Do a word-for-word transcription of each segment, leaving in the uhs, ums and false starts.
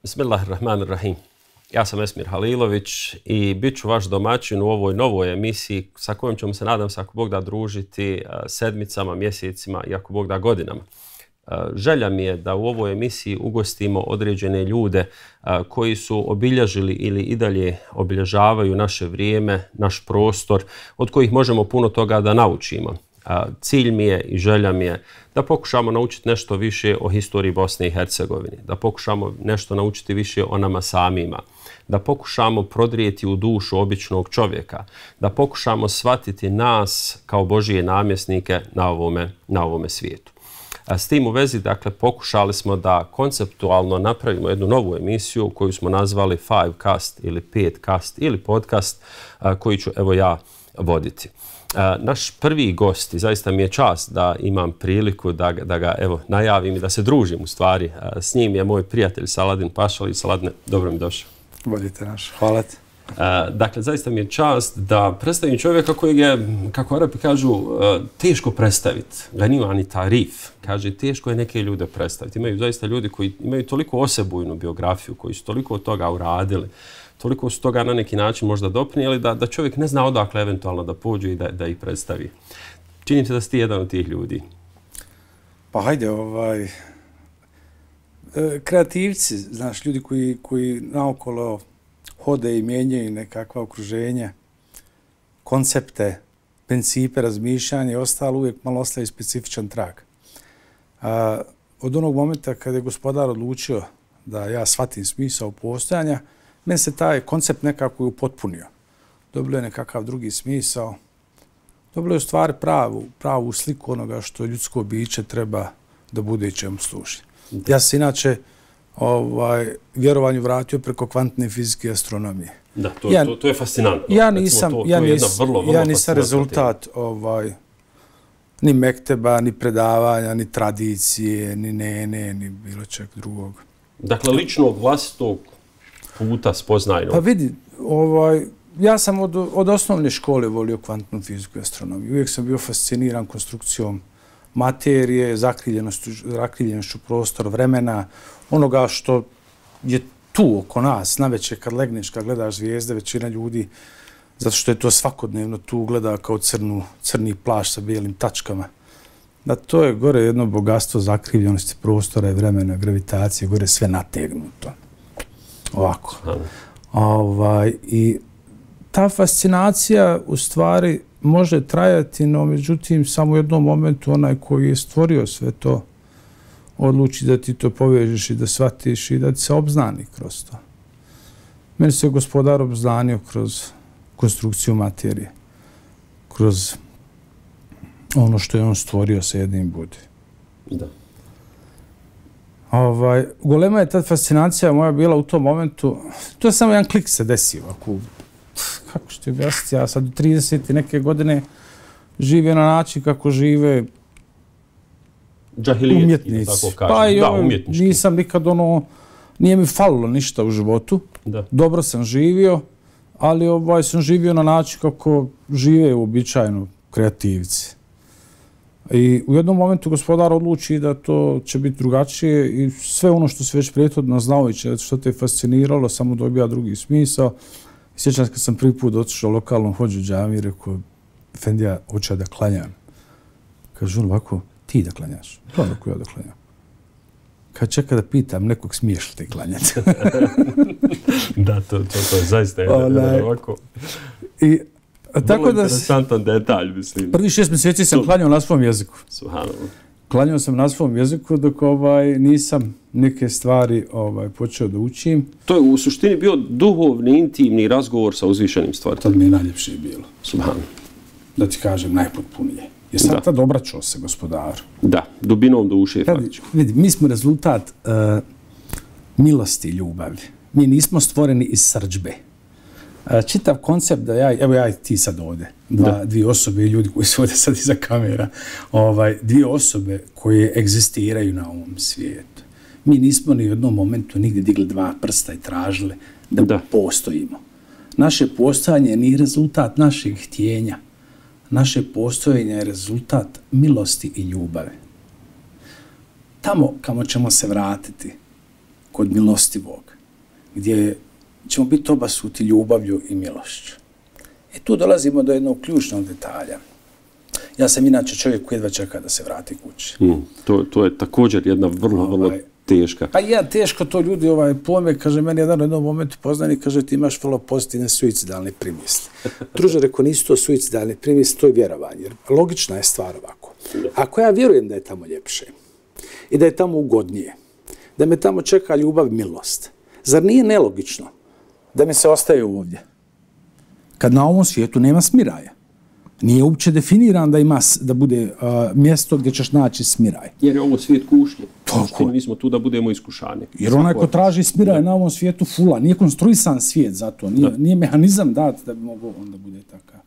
Bismillahirrahmanirrahim. Ja sam Esmir Halilović i bit ću vaš domaćin u ovoj novoj emisiji sa kojom ćemo se, nadam se, ako Bog da, družiti sedmicama, mjesecima i ako Bog da, godinama. Želja mi je da u ovoj emisiji ugostimo određene ljude koji su obilježili ili i dalje obilježavaju naše vrijeme, naš prostor, od kojih možemo puno toga da naučimo. Cilj mi je i želja mi je da pokušamo naučiti nešto više o historiji Bosne i Hercegovine, da pokušamo nešto naučiti više o nama samima, da pokušamo prodrijeti u dušu običnog čovjeka, da pokušamo shvatiti nas kao Božije namjesnike na ovome, na ovome svijetu. S tim u vezi, dakle, pokušali smo da konceptualno napravimo jednu novu emisiju koju smo nazvali Five Cast ili Pet Cast ili podcast koji ću evo ja voditi. Naš prvi gost, i zaista mi je čast da imam priliku da, da ga evo najavim i da se družim u stvari s njim, je moj prijatelj Saladin Pašalić. Saladine, dobro mi došao. Bolite naš, hvala ti. Dakle, zaista mi je čast da predstavim čovjeka kojeg je, kako Arapi kažu, teško predstaviti. Ganima ni tarif. Kaže, teško je neke ljude predstaviti. Imaju zaista ljudi koji imaju toliko osebujnu biografiju, koji su toliko od toga uradili, toliko su toga na neki način možda doprinijeli da, da čovjek ne zna odakle eventualno da pođe i da, da ih predstavi. Činim se da si ti jedan od tih ljudi. Pa hajde, ovaj, kreativci, znaš, ljudi koji, koji naokolo hode i mijenjaju nekakva okruženja, koncepte, principe, razmišljanja i ostalo, uvijek malo ostaje specifičan trag. A, od onog momenta kada je gospodar odlučio da ja shvatim smisao postojanja, meni se taj koncept nekako upotpunio. Dobilo je nekakav drugi smisao. Dobilo je u stvari pravu, pravu sliku onoga što ljudsko biće treba da bude i čemu služi. Ja se inače ovaj, vjerovanju vratio preko kvantne fizike i astronomije. Da, to, ja, to, to je fascinantno. Ja nisam, to, to ja je nis, vrlo, vrlo ja nisam rezultat ovaj, ni mekteba, ni predavanja, ni tradicije, ni nene, ni bilo čeg drugog. Dakle, ličnog vlastitog puta spoznajnog. Pa vidi, ovaj, ja sam od, od osnovne škole volio kvantnu fiziku i astronomiju. Uvijek sam bio fasciniran konstrukcijom materije, zakrivljenošću, zakrivljenošću prostora, vremena, onoga što je tu oko nas. Naveče kad legneš, kad gledaš zvijezde, većina ljudi, zato što je to svakodnevno tu, gleda kao crnu, crni plašč sa bijelim tačkama. Da to je gore jedno bogatstvo zakrivljenosti prostora i vremena, gravitacije, gore sve nategnuto. Ovako. Ovaj, i ta fascinacija u stvari može trajati, no međutim samo u jednom momentu onaj koji je stvorio sve to odluči da ti to povežeš i da shvatiš i da ti se obznani kroz to. Meni se gospodar obznanio kroz konstrukciju materije, kroz ono što je on stvorio sa jednim budi. Da. Ovaj, golema je ta fascinacija moja bila u tom momentu, to je samo jedan klik se desio. Ako, kako što je objasniti, ja sad u trideset i neke godine živio na način kako žive umjetnici. Pa i da, umjetnički. Nisam nikad ono, nije mi falilo ništa u životu. Da. Dobro sam živio, ali ovaj sam živio na način kako žive uobičajeno kreativci. I u jednom momentu gospodar odluči da to će biti drugačije i sve ono što se već prethodno znao i što te je fasciniralo, samo dobija drugi smisao. Sjećam se kad sam prvi put otišao lokalnom hođu džami i rekao, Efendija, hoće da klanjam. Kaže on ovako, ti da klanjaš? Da, dok ja da klanjam. Kad čeka da pitam nekog, smiješ li te klanjati? Da, to, to, to je zaista jedan ovako. I tako da, interesantan detalj, mislim. Prvi šest mjeseci sam klanjao na svom jeziku. Subhanallah. Klanjao sam na svom jeziku dok ovaj, nisam neke stvari ovaj, počeo da učim. To je u suštini bio duhovni, intimni razgovor sa uzvišenim stvarima. Tad mi je najljepše bilo. Subhanallah. Da ti kažem, najpotpunije. Jer sam tad obraćao se gospodaru. Da, dubinom duše. Faktički. Vidi, mi smo rezultat uh, milosti i ljubavi. Mi nismo stvoreni iz srdžbe. Čitav koncept da ja, evo ja i ti sad ovdje, dva, dvije osobe i ljudi koji su ovdje sad iza kamera, ovaj, dvije osobe koje egzistiraju na ovom svijetu. Mi nismo ni u jednom momentu nigdje digli dva prsta i tražili da, da. postojimo. Naše postojanje nije rezultat našeg htjenja. Naše postojanje je rezultat milosti i ljubave. Tamo kamo ćemo se vratiti, kod milostivog, gdje ćemo biti obasuti ljubavlju i milošću. I tu dolazimo do jednog ključnog detalja. Ja sam inače čovjek koji jedva čeka da se vrati kući. Mm, to, to je također jedna vrlo, vrlo ovaj, teška. Pa ja, teško to ljudi ovaj, pojme, kaže, meni jedan u jednom momentu poznanik, kaže, ti imaš vrlo pozitivne suicidalne primisli. Druže, reko, nisu to suicidalne primisli, to je vjerovanje. Jer logična je stvar ovako. Ako ja vjerujem da je tamo ljepše i da je tamo ugodnije, da me tamo čeka ljubav i milost, zar nije nelogično da mi se ostaje ovdje? Kad na ovom svijetu nema smiraja. Nije uopće definiran da ima da bude uh, mjesto gdje ćeš naći smiraj. Jer je ovo svijet kušnje. Toliko. Mi smo tu da budemo iskušani. Jer onaj ko traži smiraj na ovom svijetu fula. Nije konstruisan svijet za to. Nije, nije mehanizam dat da bi mogao onda bude takav.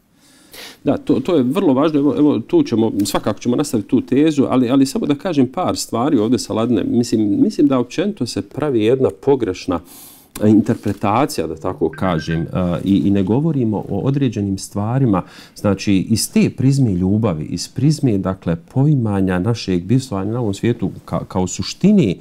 Da, to, to je vrlo važno. Evo, evo, tu ćemo, svakako ćemo nastaviti tu tezu, ali, ali samo da kažem par stvari ovdje sa Ladine. Mislim, mislim da općenito se pravi jedna pogrešna interpretacija, da tako kažem, i, i ne govorimo o određenim stvarima, znači iz te prizme ljubavi, iz prizme, dakle, poimanja našeg bivstvovanja na ovom svijetu ka, kao suštini,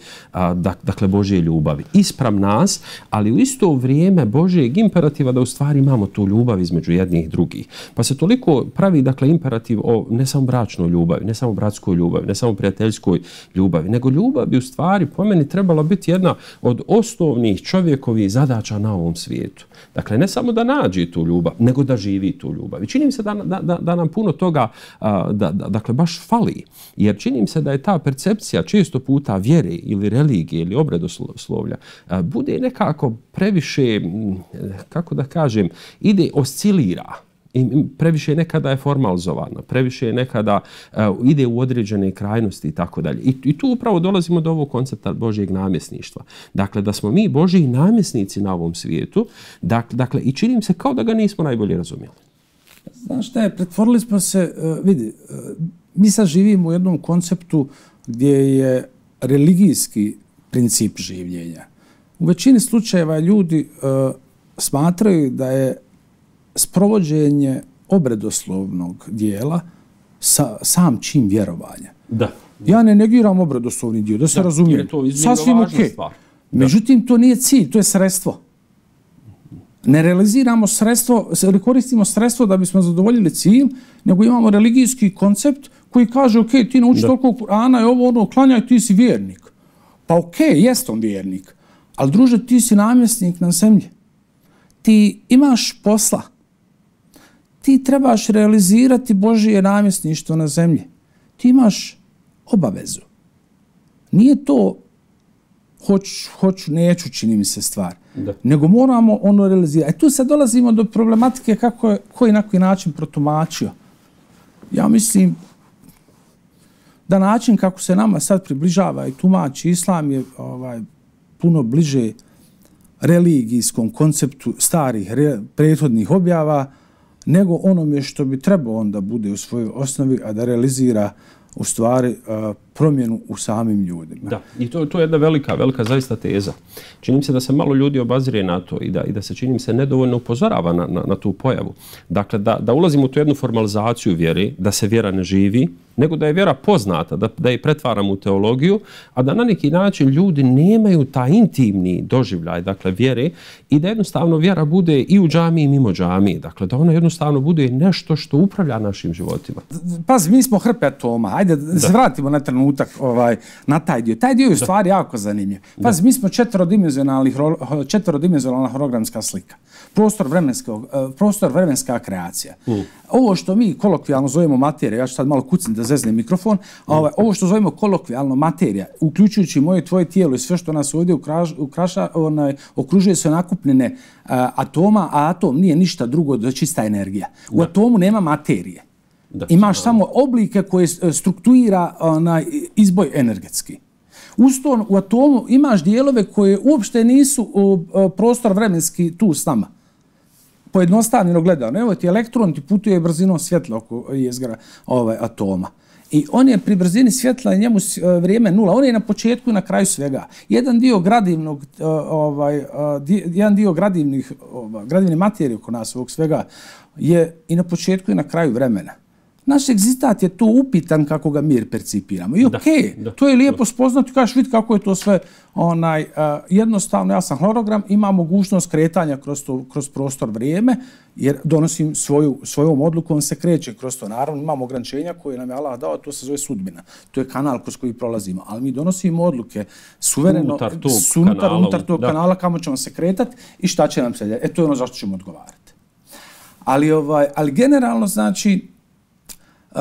dakle, Božje ljubavi. Ispram nas, ali u isto vrijeme Božjeg imperativa da u stvari imamo tu ljubav između jednih i drugih. Pa se toliko pravi, dakle, imperativ o ne samo bračnoj ljubavi, ne samo bratskoj ljubavi, ne samo prijateljskoj ljubavi, nego ljubav bi u stvari po meni trebala biti jedna od osnovnih čovjeka zadaća na ovom svijetu. Dakle, ne samo da nađe tu ljubav, nego da živi tu ljubav. I čini mi se da, da, da, da nam puno toga da, da, dakle, baš fali. Jer čini mi se da je ta percepcija često puta vjere ili religije ili obredoslovlja bude nekako previše, kako da kažem, ide, oscilira. I previše nekada je formalizovana, previše nekada uh, ide u određene krajnosti i tako dalje. I tu upravo dolazimo do ovog koncepta Božjeg namjesništva. Dakle, da smo mi Božji namjesnici na ovom svijetu, dakle, dakle i činim se kao da ga nismo najbolje razumjeli. Znaš šta je, pretvorili smo se, uh, vidi, uh, mi sad živimo u jednom konceptu gdje je religijski princip življenja. U većini slučajeva ljudi uh, smatraju da je sprovođenje obredoslovnog dijela sa, sam čin vjerovanja. Da. Ja ne negiram obredoslovni dio, da se da, razumijem. Sasvim ok. Međutim, to nije cilj, to je sredstvo. Ne realiziramo sredstvo, ne koristimo sredstvo da bismo zadovoljili cilj, nego imamo religijski koncept koji kaže, ok, ti nauči toliko Kur'ana i ovo ono, klanjaj, ti si vjernik. Pa ok, jest on vjernik, ali druže, ti si namjesnik na zemlji. Ti imaš posla. Ti trebaš realizirati Božje namjesništvo na zemlji. Ti imaš obavezu. Nije to hoću, hoću, neću, čini mi se stvar. Da. Nego moramo ono realizirati. E tu sad dolazimo do problematike kako je, koji na koji način protumačio. Ja mislim da način kako se nama sad približava i tumači islam je ovaj, puno bliže religijskom konceptu starih re, prethodnih objava nego onome što bi trebao onda bude u svojoj osnovi, a da realizira u stvari uh, promjenu u samim ljudima. Da, i to, to je jedna velika, velika zaista teza. Čini mi se da se malo ljudi obazire na to i da, i da se čini mi se nedovoljno upozorava na, na, na tu pojavu. Dakle, da, da ulazimo u tu jednu formalizaciju vjere, da se vjera ne živi, nego da je vjera poznata, da, da je pretvaramo u teologiju, a da na neki način ljudi nemaju taj intimni doživljaj, dakle, vjere, i da jednostavno vjera bude i u džamiji i mimo džamiji. Dakle, da ona jednostavno bude nešto što upravlja našim životima. Pazi, mi smo hrpe atoma. Ajde, da se vratimo na trenutak ovaj, na taj dio. Taj dio je u stvari jako zanimljiv. Pazi, mi smo četverodimenzionalna hologramska slika. Prostor, prostor vremenska kreacija. Mm. Ovo što mi kolokvijalno zovemo materija, ja ću sad malo kucim da zeznem mikrofon, mm. ovaj, ovo što zovemo kolokvijalno materija, uključujući moje tvoje tijelo i sve što nas ovdje ukraš, ukraša, onaj, okružuje se nakupljene uh, atoma, a atom nije ništa drugo do čista energija. U da. Atomu nema materije. Da, imaš samo oblike koje strukturira onaj izboj energetski. Usto u atomu imaš dijelove koje uopšte nisu uh, prostor vremenski tu s nama. Pojednostavljeno gledano. Evo ti elektron ti putuje brzinom svjetla oko jezgra ovaj, atoma. I on je pri brzini svjetla, njemu vrijeme nula. On je na početku i na kraju svega. Jedan dio gradivnog, uh, ovaj, uh, jedan dio gradivnih, uh, gradivne materije oko nas ovog svega je i na početku i na kraju vremena. Naš egzistat je tu upitan kako ga mir percipiramo. I okej, okay, to je lijepo spoznati, kažeš vidi kako je to sve onaj, uh, jednostavno, ja sam hologram, ima mogućnost kretanja kroz, to, kroz prostor vrijeme, jer donosim svoju, svojom odlukom se kreće kroz to. Naravno, imamo ograničenja koje nam je Allah dao, to se zove sudbina. To je kanal kroz koji prolazimo. Ali mi donosimo odluke suvereno, unutar tog unutar, kanala, unutar tog da. kanala kamo ćemo se kretati i šta će nam se. E, to je ono zašto ćemo odgovarati. Ali, ovaj, ali generalno, znači, Uh,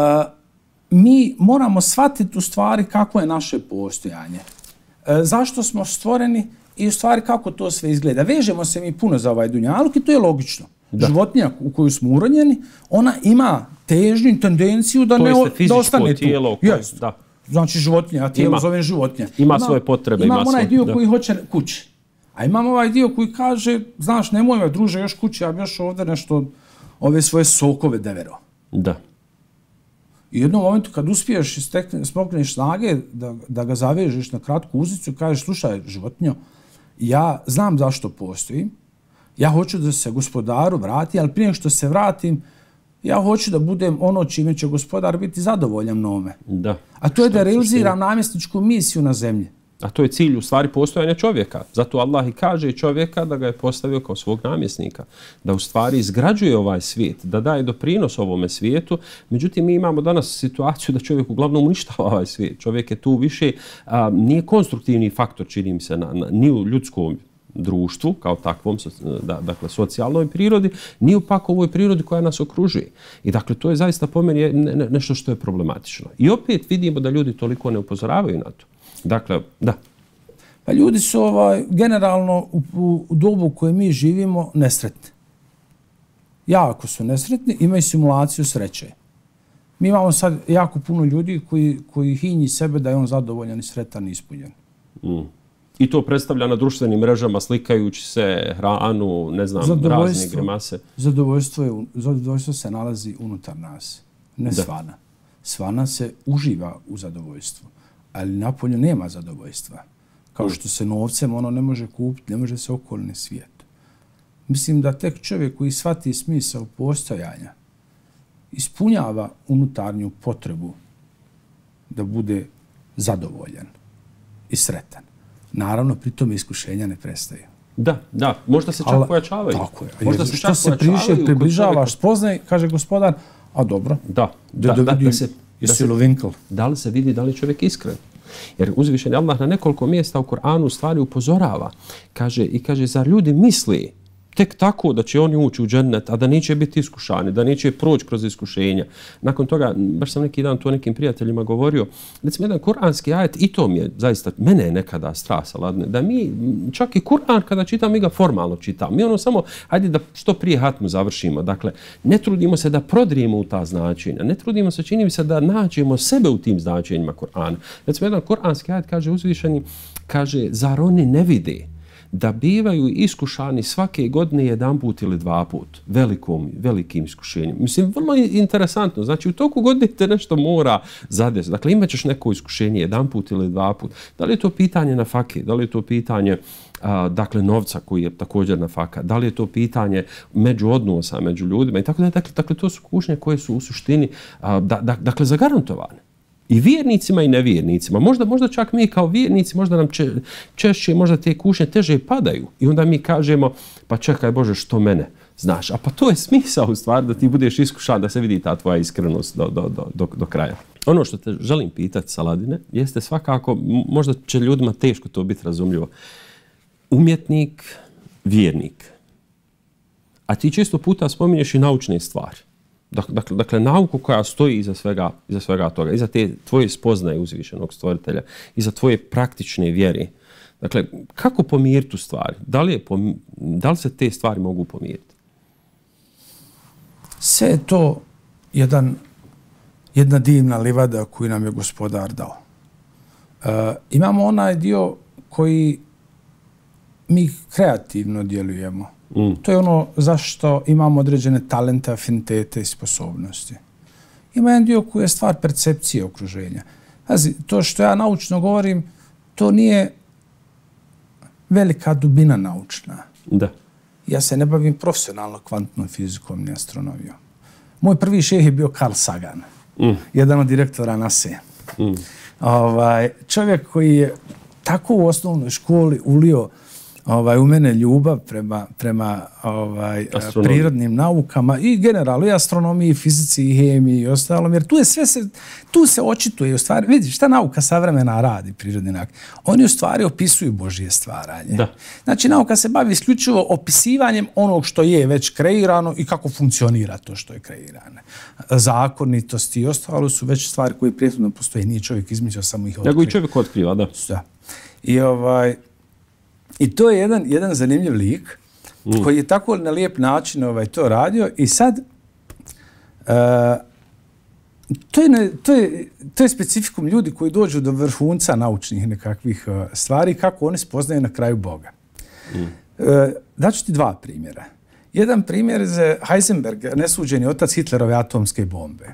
mi moramo shvatiti u stvari kako je naše postojanje. Uh, zašto smo stvoreni i u stvari kako to sve izgleda. Vežemo se mi puno za ovaj dunjaluk i to je logično. Da. Životinja u koju smo uronjeni, ona ima težnju, tendenciju da, ne, da ostane tijelo, tu. Yes. Da. Znači životinja, ja tijelo zovem životinja. Ima, ima svoje potrebe. Imam ima onaj svoj, dio da. koji hoće kući. A imam ovaj dio koji kaže, znaš, nemoj me druže još kući, ja bi još ovdje nešto, ove svoje sokove devero. Da. I u jednom momentu kad uspiješ i smokneš snage da, da ga zavežeš na kratku uzicu i kažeš, slušaj, životinjo, ja znam zašto postojim, ja hoću da se gospodaru vrati, ali prije što se vratim, ja hoću da budem ono čime će gospodar biti zadovoljan mnome. Da. A to je da realiziram namjesničku misiju na zemlji. A to je cilj u stvari postojanja čovjeka. Zato Allah i kaže čovjeka da ga je postavio kao svog namjesnika. Da u stvari izgrađuje ovaj svijet, da daje doprinos ovome svijetu. Međutim, mi imamo danas situaciju da čovjek uglavnom uništava ovaj svijet. Čovjek je tu više, a, nije konstruktivni faktor, čini mi se, na, na, ni u ljudskom društvu, kao takvom, da, dakle, socijalnoj prirodi, ni u pak ovoj prirodi koja nas okružuje. I dakle, to je zaista po meni ne, ne, nešto što je problematično. I opet vidimo da ljudi toliko ne upozoravaju na to. Dakle, da. Pa ljudi su ovaj, generalno u, u, u dobu u kojoj mi živimo nesretni. Jako su nesretni, imaju simulaciju sreće. Mi imamo sad jako puno ljudi koji, koji hinji sebe da je on zadovoljan i sretan i ispunjen. Mm. I to predstavlja na društvenim mrežama slikajući se, hranu, ne znam, razne grimase. Zadovoljstvo, je, zadovoljstvo se nalazi unutar nas, ne da. svana. Svana se uživa u zadovoljstvu. Ali napolju nema zadovoljstva. Kao što se novcem ono ne može kupiti, ne može se okolni svijet. Mislim da tek čovjek koji shvati smisao postojanja ispunjava unutarnju potrebu da bude zadovoljan i sretan. Naravno, pri tome iskušenja ne prestaju. Da, da, možda se čak Ali, pojačavaju. Tako je. Možda se što se priše, približavaš, spoznaj, kaže gospodar, a dobro. Da, da, da, da, da se... Da, se, da li se vidi da li je čovjek iskren? Jer uzvišeni Allah na nekoliko mjesta u Kur'anu stvari upozorava. Kaže, i kaže, zar ljudi misli tek tako da će oni ući u džennet, a da neće biti iskušani, da neće proći kroz iskušenja. Nakon toga, baš sam neki dan to nekim prijateljima govorio, recimo jedan kuranski ajet, i to mi je zaista, mene je nekada strasala, da mi, čak i Kur'an kada čitam, mi ga formalno čitam. Mi ono samo, hajde da što prije hatmu završimo. Dakle, ne trudimo se da prodrijemo u ta značenja, ne trudimo se, čini mi se da nađemo sebe u tim značenjima Kur'ana. Recimo jedan kuranski ajet kaže uzvišeni, kaže, zar oni ne vide da bivaju iskušani svake godine jedan put ili dva put velikom, velikim iskušenjem. Mislim, vrlo interesantno. Znači, u toku godine te nešto mora zadesiti. Dakle, imat ćeš neko iskušenje jedan put ili dva put. Da li je to pitanje na fake? Da li je to pitanje a, dakle, novca koji je također na faka? Da li je to pitanje među odnosa, među ljudima? I tako da, dakle, dakle, to su kušnje koje su u suštini a, da, da, dakle, zagarantovane. I vjernicima i nevjernicima. Možda, možda čak mi kao vjernici, možda nam če, češće možda te kušnje teže padaju. I onda mi kažemo, pa čekaj Bože, što mene znaš? A pa to je smisao u stvari da ti budeš iskušan, da se vidi ta tvoja iskrenost do, do, do, do, do kraja. Ono što te želim pitati, Saladine, jeste svakako, možda će ljudima teško to biti razumljivo, umjetnik, vjernik. A ti često puta spominješ i naučne stvari. Dakle, dakle, nauku koja stoji iza svega, iza svega toga, iza te tvoje spoznaje uzvišenog stvoritelja, iza tvoje praktične vjere. Dakle, kako pomiriti tu stvari? Da li, je pom... da li se te stvari mogu pomiriti? Sve je to jedan, jedna divna livada koju nam je gospodar dao. E, imamo onaj dio koji mi kreativno djelujemo. Mm. To je ono zašto imamo određene talente, afinitete i sposobnosti. Ima jedan dio koji je stvar percepcije okruženja. Pazi, to što ja naučno govorim, to nije velika dubina naučna. Da. Ja se ne bavim profesionalno kvantnom fizikom ni astronomijom. Moj prvi šejh je bio Carl Sagan, mm. jedan od direktora NASA. Mm. Ovaj, čovjek koji je tako u osnovnoj školi ulio ovaj, u mene ljubav prema, prema ovaj, prirodnim naukama i generalno i astronomiji, i fizici, i hemiji i ostalom, jer tu, je sve se, tu se očituje. U stvari, vidiš, šta nauka savremena radi, prirodni nauke? Oni u stvari opisuju Božje stvaranje. Da. Znači, nauka se bavi isključivo opisivanjem onog što je već kreirano i kako funkcionira to što je kreirano. Zakonitosti i ostalo su već stvari koje prijetno postoje. Nije čovjek izmislio, samo ih otkriva. Nego i čovjek otkriva, da. Da. I ovaj... I to je jedan, jedan zanimljiv lik mm. koji je tako na lijep način ovaj, to radio i sad uh, to, je ne, to, je, to je specifikum ljudi koji dođu do vrhunca naučnih nekakvih uh, stvari kako oni spoznaju na kraju Boga. Mm. Uh, daću ti dva primjera. Jedan primjer je Heisenberg, nesuđeni otac Hitlerove atomske bombe.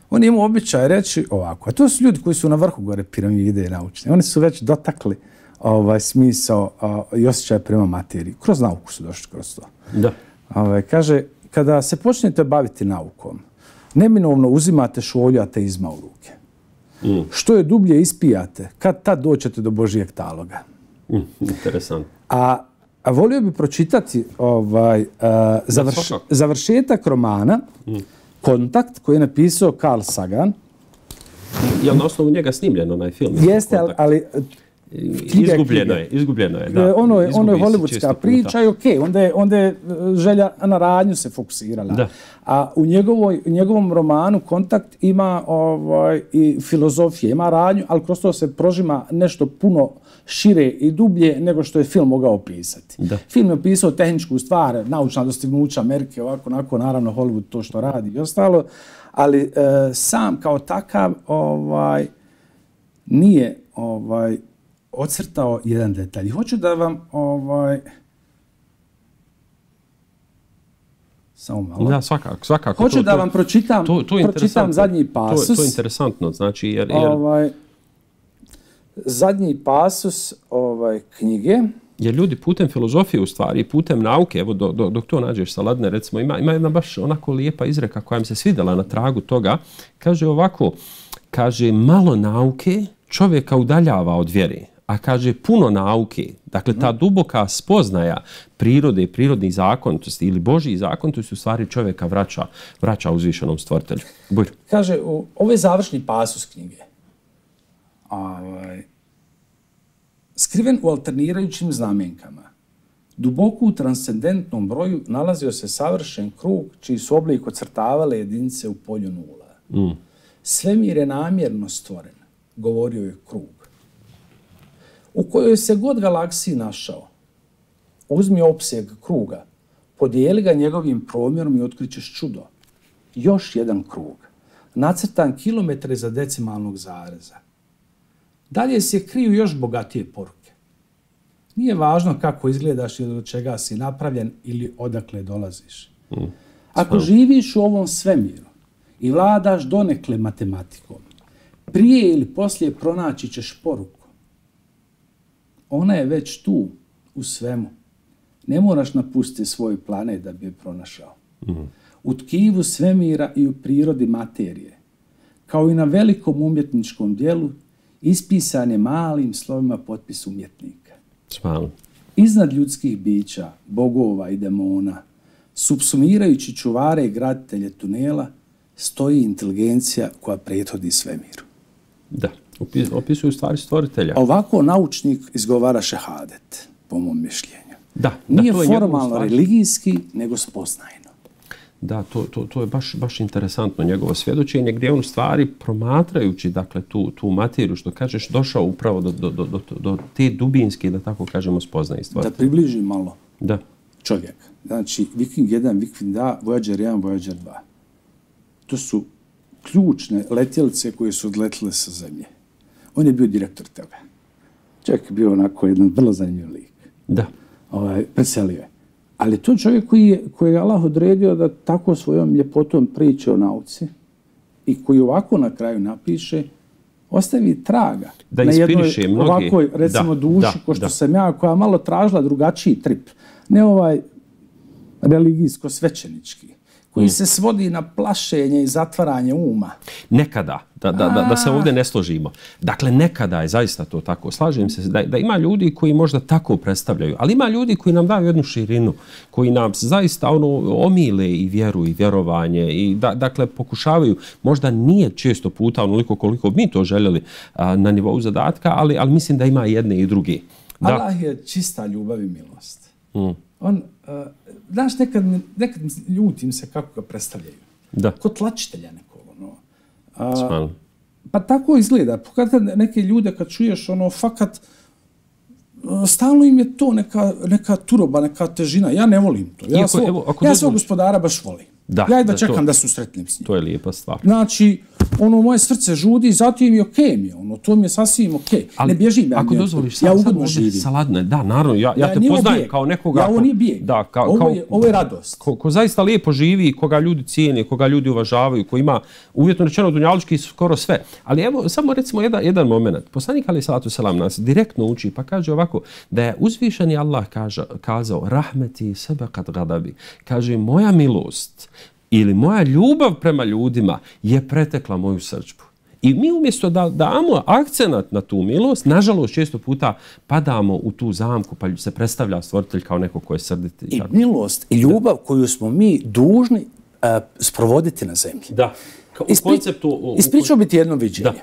On je imao običaj reći ovako, a to su ljudi koji su na vrhu gore piramide naučne. Oni su već dotakli ovaj smisao uh, i osjećaj prema materiji. Kroz nauku su došli kroz to. Da. Ovaj, kaže, kada se počnete baviti naukom, neminovno uzimate šolju ateizma u ruke. Mm. Što je dublje ispijate, kad tad doćete do Božijeg taloga. Mm, interesant. A, a volio bi pročitati ovaj, uh, završ, završetak romana mm. Kontakt, koji je napisao Carl Sagan. Je na osnovu njega snimljen onaj film? Jeste, ali, ali izgubljeno je, izgubljeno je, da. Ono je, ono je hollywoodska priča i okej, okay, onda je, onda je želja na radnju se fokusirala. Da. A u, njegovoj, u njegovom romanu Kontakt ima ovaj, i filozofije, ima radnju, ali kroz to se prožima nešto puno šire i dublje nego što je film mogao opisati. Da. Film je opisao tehničku stvar, naučna dostignuća Amerike, ovako, onako, naravno Hollywood to što radi i ostalo, ali e, sam kao takav ovaj, nije ovaj, ocrtao jedan detalj. Hoću da vam ovaj samo malo. Da, svakako, svakako. Hoću to, da vam pročitam, to, to pročitam zadnji pasus. To, to je interesantno, znači jer, jer... Ovaj, zadnji pasus ovaj knjige. Jer ljudi putem filozofije u stvari, putem nauke, evo do, do, dok to nađeš sa Ladne, recimo, ima, ima jedna baš onako lijepa izreka koja mi se svidjela na tragu toga. Kaže ovako, kaže malo nauke čovjeka udaljava od vjere. A kaže puno nauke, dakle ta duboka spoznaja prirode i prirodnih zakonitosti ili Božjih zakonitosti u stvari čovjeka vraća, vraća uzvišenom stvoritelju. Bujro. Kaže, ovo je završni pasus knjige. Ovaj, skriven u alternirajućim znamenkama, duboko u transcendentnom broju nalazio se savršen krug čiji su oblik ocrtavale jedinice u polju nula. Mm. Svemir je namjerno stvoren, govorio je krug. U kojoj se god galaksiji našao, uzmi opseg kruga, podijeli ga njegovim promjerom i otkrićeš čudo. Još jedan krug, nacrtan kilometre za decimalnog zareza. Dalje se kriju još bogatije poruke. Nije važno kako izgledaš ili od čega si napravljen ili odakle dolaziš. Mm. Ako živiš u ovom svemiru i vladaš donekle matematikom, prije ili poslije pronaći ćeš poruku. Ona je već tu, u svemu. Ne moraš napustiti svoj planet da bi je pronašao. Mm. U tkivu svemira i u prirodi materije, kao i na velikom umjetničkom dijelu, ispisan je malim slovima potpis umjetnika. Smal. Iznad ljudskih bića, bogova i demona, subsumirajući čuvare i graditelje tunela, stoji inteligencija koja prethodi svemiru. Da. Opisuju stvari stvoritelja. Ovako naučnik izgovara šehadet, po mom mišljenju. Da, Nije da, to je formalno religijski, nego spoznajno. Da, to, to, to je baš, baš interesantno njegovo svjedočenje, gdje on stvari promatrajući dakle, tu, tu materiju, što kažeš, došao upravo do, do, do, do, do te dubinske, da tako kažemo, spoznaje stvari. Da približi malo da. Čovjek. Znači, Viking jedan, Viking dva, Voyager jedan, Voyager dva. To su ključne letjelice koje su odletile sa zemlje. On je bio direktor toga. Čovjek je bio onako jedan vrlo zanimljiv lik. Da. Ovaj, veselio je. Ali to čovjek koji je, koji je Allah odredio da tako svojom ljepotom priče o nauci i koji ovako na kraju napiše, ostavi traga da na jednoj mnogi. ovakvoj, recimo, da, duši, da, ko što da. sam ja, koja malo tražila drugačiji trip. Ne ovaj religijsko-svećenički, koji mm. se svodi na plašenje i zatvaranje uma. Nekada, da, da, da, da se ovdje ne složimo. Dakle, nekada je zaista to tako. Slažem se da, da ima ljudi koji možda tako predstavljaju, ali ima ljudi koji nam daju jednu širinu, koji nam zaista ono omile i vjeru i vjerovanje i da, dakle pokušavaju, možda nije često puta onoliko koliko mi to željeli a, na nivou zadatka, ali, ali mislim da ima jedne i druge. Da. Allah je čista ljubav i milost. Mm. On, uh, znaš, nekad, nekad ljutim se kako ga predstavljaju. Da. Kod tlačitelja nekog. Ono. Uh, pa tako izgleda. Kad neke ljude, kad čuješ, ono, fakat, uh, stalno im je to neka, neka turoba, neka težina. Ja ne volim to. Ja, Iako, svog, evo, ako ja svog gospodara baš volim. Da, ja jedva čekam to, da se usretnem s njim. To je lijepa stvar. Znači, ono, moje srce žudi, zato im je okej mi. Ono, to mi je sasvim okej. Ne bježim ja. Ako dozvoliš, ja sad, sad živim. Saladne, da, naravno, ja, ja, ja te poznajem bijeg. Kao nekoga... Ja, ovo nije bijeg. Da, ka, ovo, kao, je, ovo je radost. Ko, ko zaista lijepo živi, koga ljudi cijene, koga ljudi uvažavaju, ko ima uvjetno rečeno dunjalučki skoro sve. Ali evo, samo recimo jedan, jedan moment. Poslanik alejhi salatu selam nas direktno uči, pa kaže ovako, da je uzvišeni Allah kaže, kazao, rahmeti sabaqat ghadabi. Kaže, moja milost ili moja ljubav prema ljudima je pretekla moju srdžbu. I mi umjesto da damo akcenat na tu milost, nažalost često puta padamo u tu zamku pa se predstavlja stvoritelj kao neko ko je srditi. I milost i ljubav da. Koju smo mi dužni uh, sprovoditi na zemlji. Da. Ka, u Ispri... konceptu... U... Ispričao biti jedno viđenje.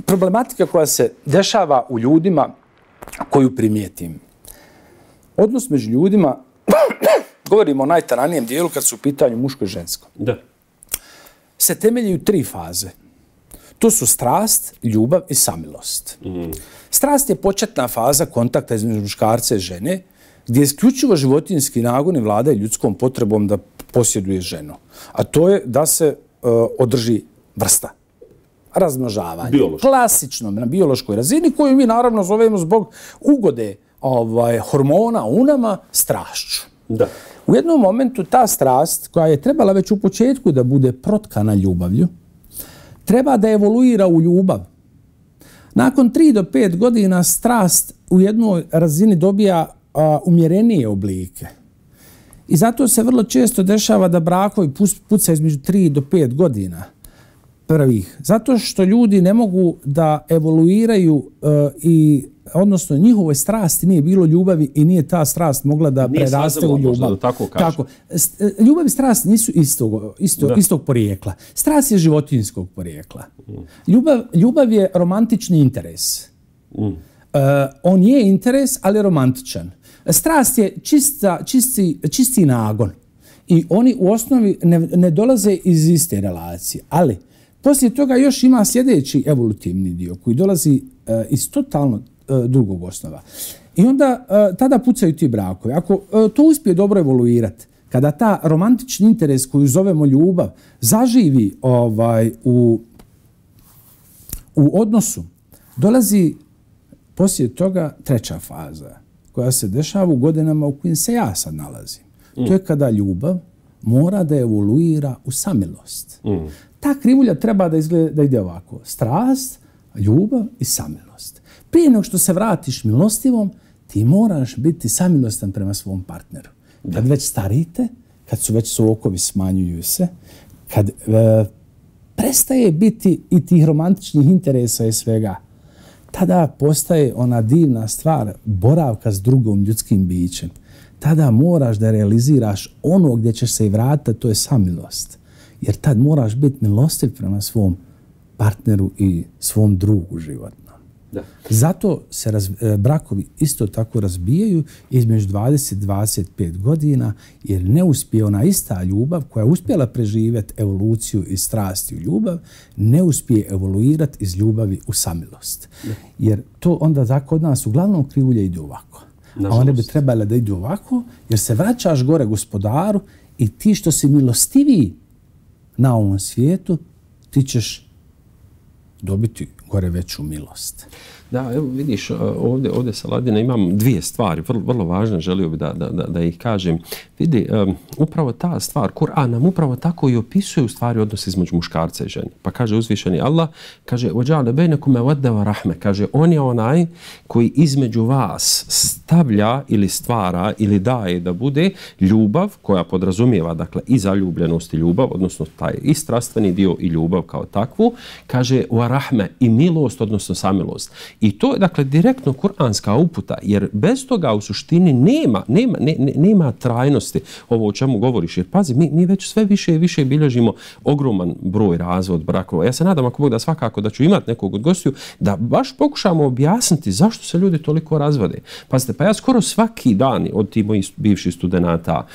Problematika koja se dešava u ljudima koju primijetim. Odnos među ljudima govorimo o najtaranijem dijelu kad su u pitanju muško i žensko. Da. Se temelji u tri faze. To su strast, ljubav i samilost. Mm. Strast je početna faza kontakta između muškarca i žene, gdje je isključivo životinjski nagon i vlada ljudskom potrebom da posjeduje ženu. A to je da se uh, održi vrsta. Razmnožavanje. Biološko. Klasično, na biološkoj razini, koju mi naravno zovemo zbog ugode ovaj, hormona u nama strašću. Da. U jednom momentu ta strast, koja je trebala već u početku da bude protkana ljubavlju, treba da evoluira u ljubav. Nakon tri do pet godina strast u jednoj razini dobija a, umjerenije oblike. I zato se vrlo često dešava da brakovi puca između tri do pet godina prvih. Zato što ljudi ne mogu da evoluiraju a, i odnosno njihovoj strasti nije bilo ljubavi i nije ta strast mogla da nije preraste u ljubav. Da tako kažem. Tako. Ljubav i strast nisu istog, istog, istog porijekla. Strast je životinjskog porijekla. Mm. Ljubav, ljubav je romantični interes. Mm. Uh, on je interes, ali romantičan. Strast je čista, čisti, čisti nagon. I oni u osnovi ne, ne dolaze iz iste relacije. Ali poslije toga još ima sljedeći evolutivni dio koji dolazi uh, iz totalno drugog osnova. I onda uh, tada pucaju ti brakovi. Ako uh, to uspije dobro evoluirati, kada ta romantični interes koju zovemo ljubav zaživi ovaj, u, u odnosu, dolazi poslije toga treća faza koja se dešava u godinama u kojim se ja sad nalazim. Mm. To je kada ljubav mora da evoluira u samilost. Mm. Ta krivulja treba da, izgleda, da ide ovako. Strast, ljubav i samilost. Prije nego što se vratiš milostivom, ti moraš biti samilostan prema svom partneru. Kad već starite, kad su već sokovi smanjuju se, kad e, prestaje biti i tih romantičnih interesa i svega, tada postaje ona divna stvar boravka s drugom ljudskim bićem. Tada moraš da realiziraš ono gdje ćeš se i vratiti, to je samilost. Jer tad moraš biti milostiv prema svom partneru i svom drugu životnom. Da. Zato se raz, brakovi isto tako razbijaju između dvadeset do dvadeset pet godina, jer ne uspije ona ista ljubav koja je uspjela preživjeti evoluciju i strasti u ljubav, ne uspije evoluirati iz ljubavi u samilost. Da. Jer to onda tako od nas uglavnom krivulje ide ovako. Nažalost. A one bi trebale da idu ovako, jer se vraćaš gore gospodaru i ti što si milostiviji na ovom svijetu, ti ćeš dobiti gore veću milost. Da, evo vidiš, ovdje, ovdje Saladina imam dvije stvari, vrlo, vrlo važne, želio bi da, da, da, da ih kažem. Vidi, um, upravo ta stvar, Kur'an nam upravo tako i opisuje u stvari odnos između muškarca i žene. Pa kaže uzvišeni Allah, kaže, وَجَعَلَ بَيْنَكُمْ مَوَدَّةً وَرَحْمَةً, kaže, on je onaj koji između vas stavlja ili stvara ili daje da bude ljubav koja podrazumijeva, dakle, i zaljubljenost i ljubav, odnosno taj i strastveni dio i ljubav kao takvu, kaže, وَرَحْمَةً, i milost, odnosno samilost. I to je, dakle, direktno kuranska uputa, jer bez toga u suštini nema, nema, ne, nema trajnosti ovo o čemu govoriš. Jer pazi, mi, mi već sve više i više bilježimo ogroman broj razvod brakova. Ja se nadam, ako Bog da, svakako da ću imati nekog od gostiju, da baš pokušamo objasniti zašto se ljudi toliko razvode. Pazite, pa ja skoro svaki dan od tih mojih bivših studenata,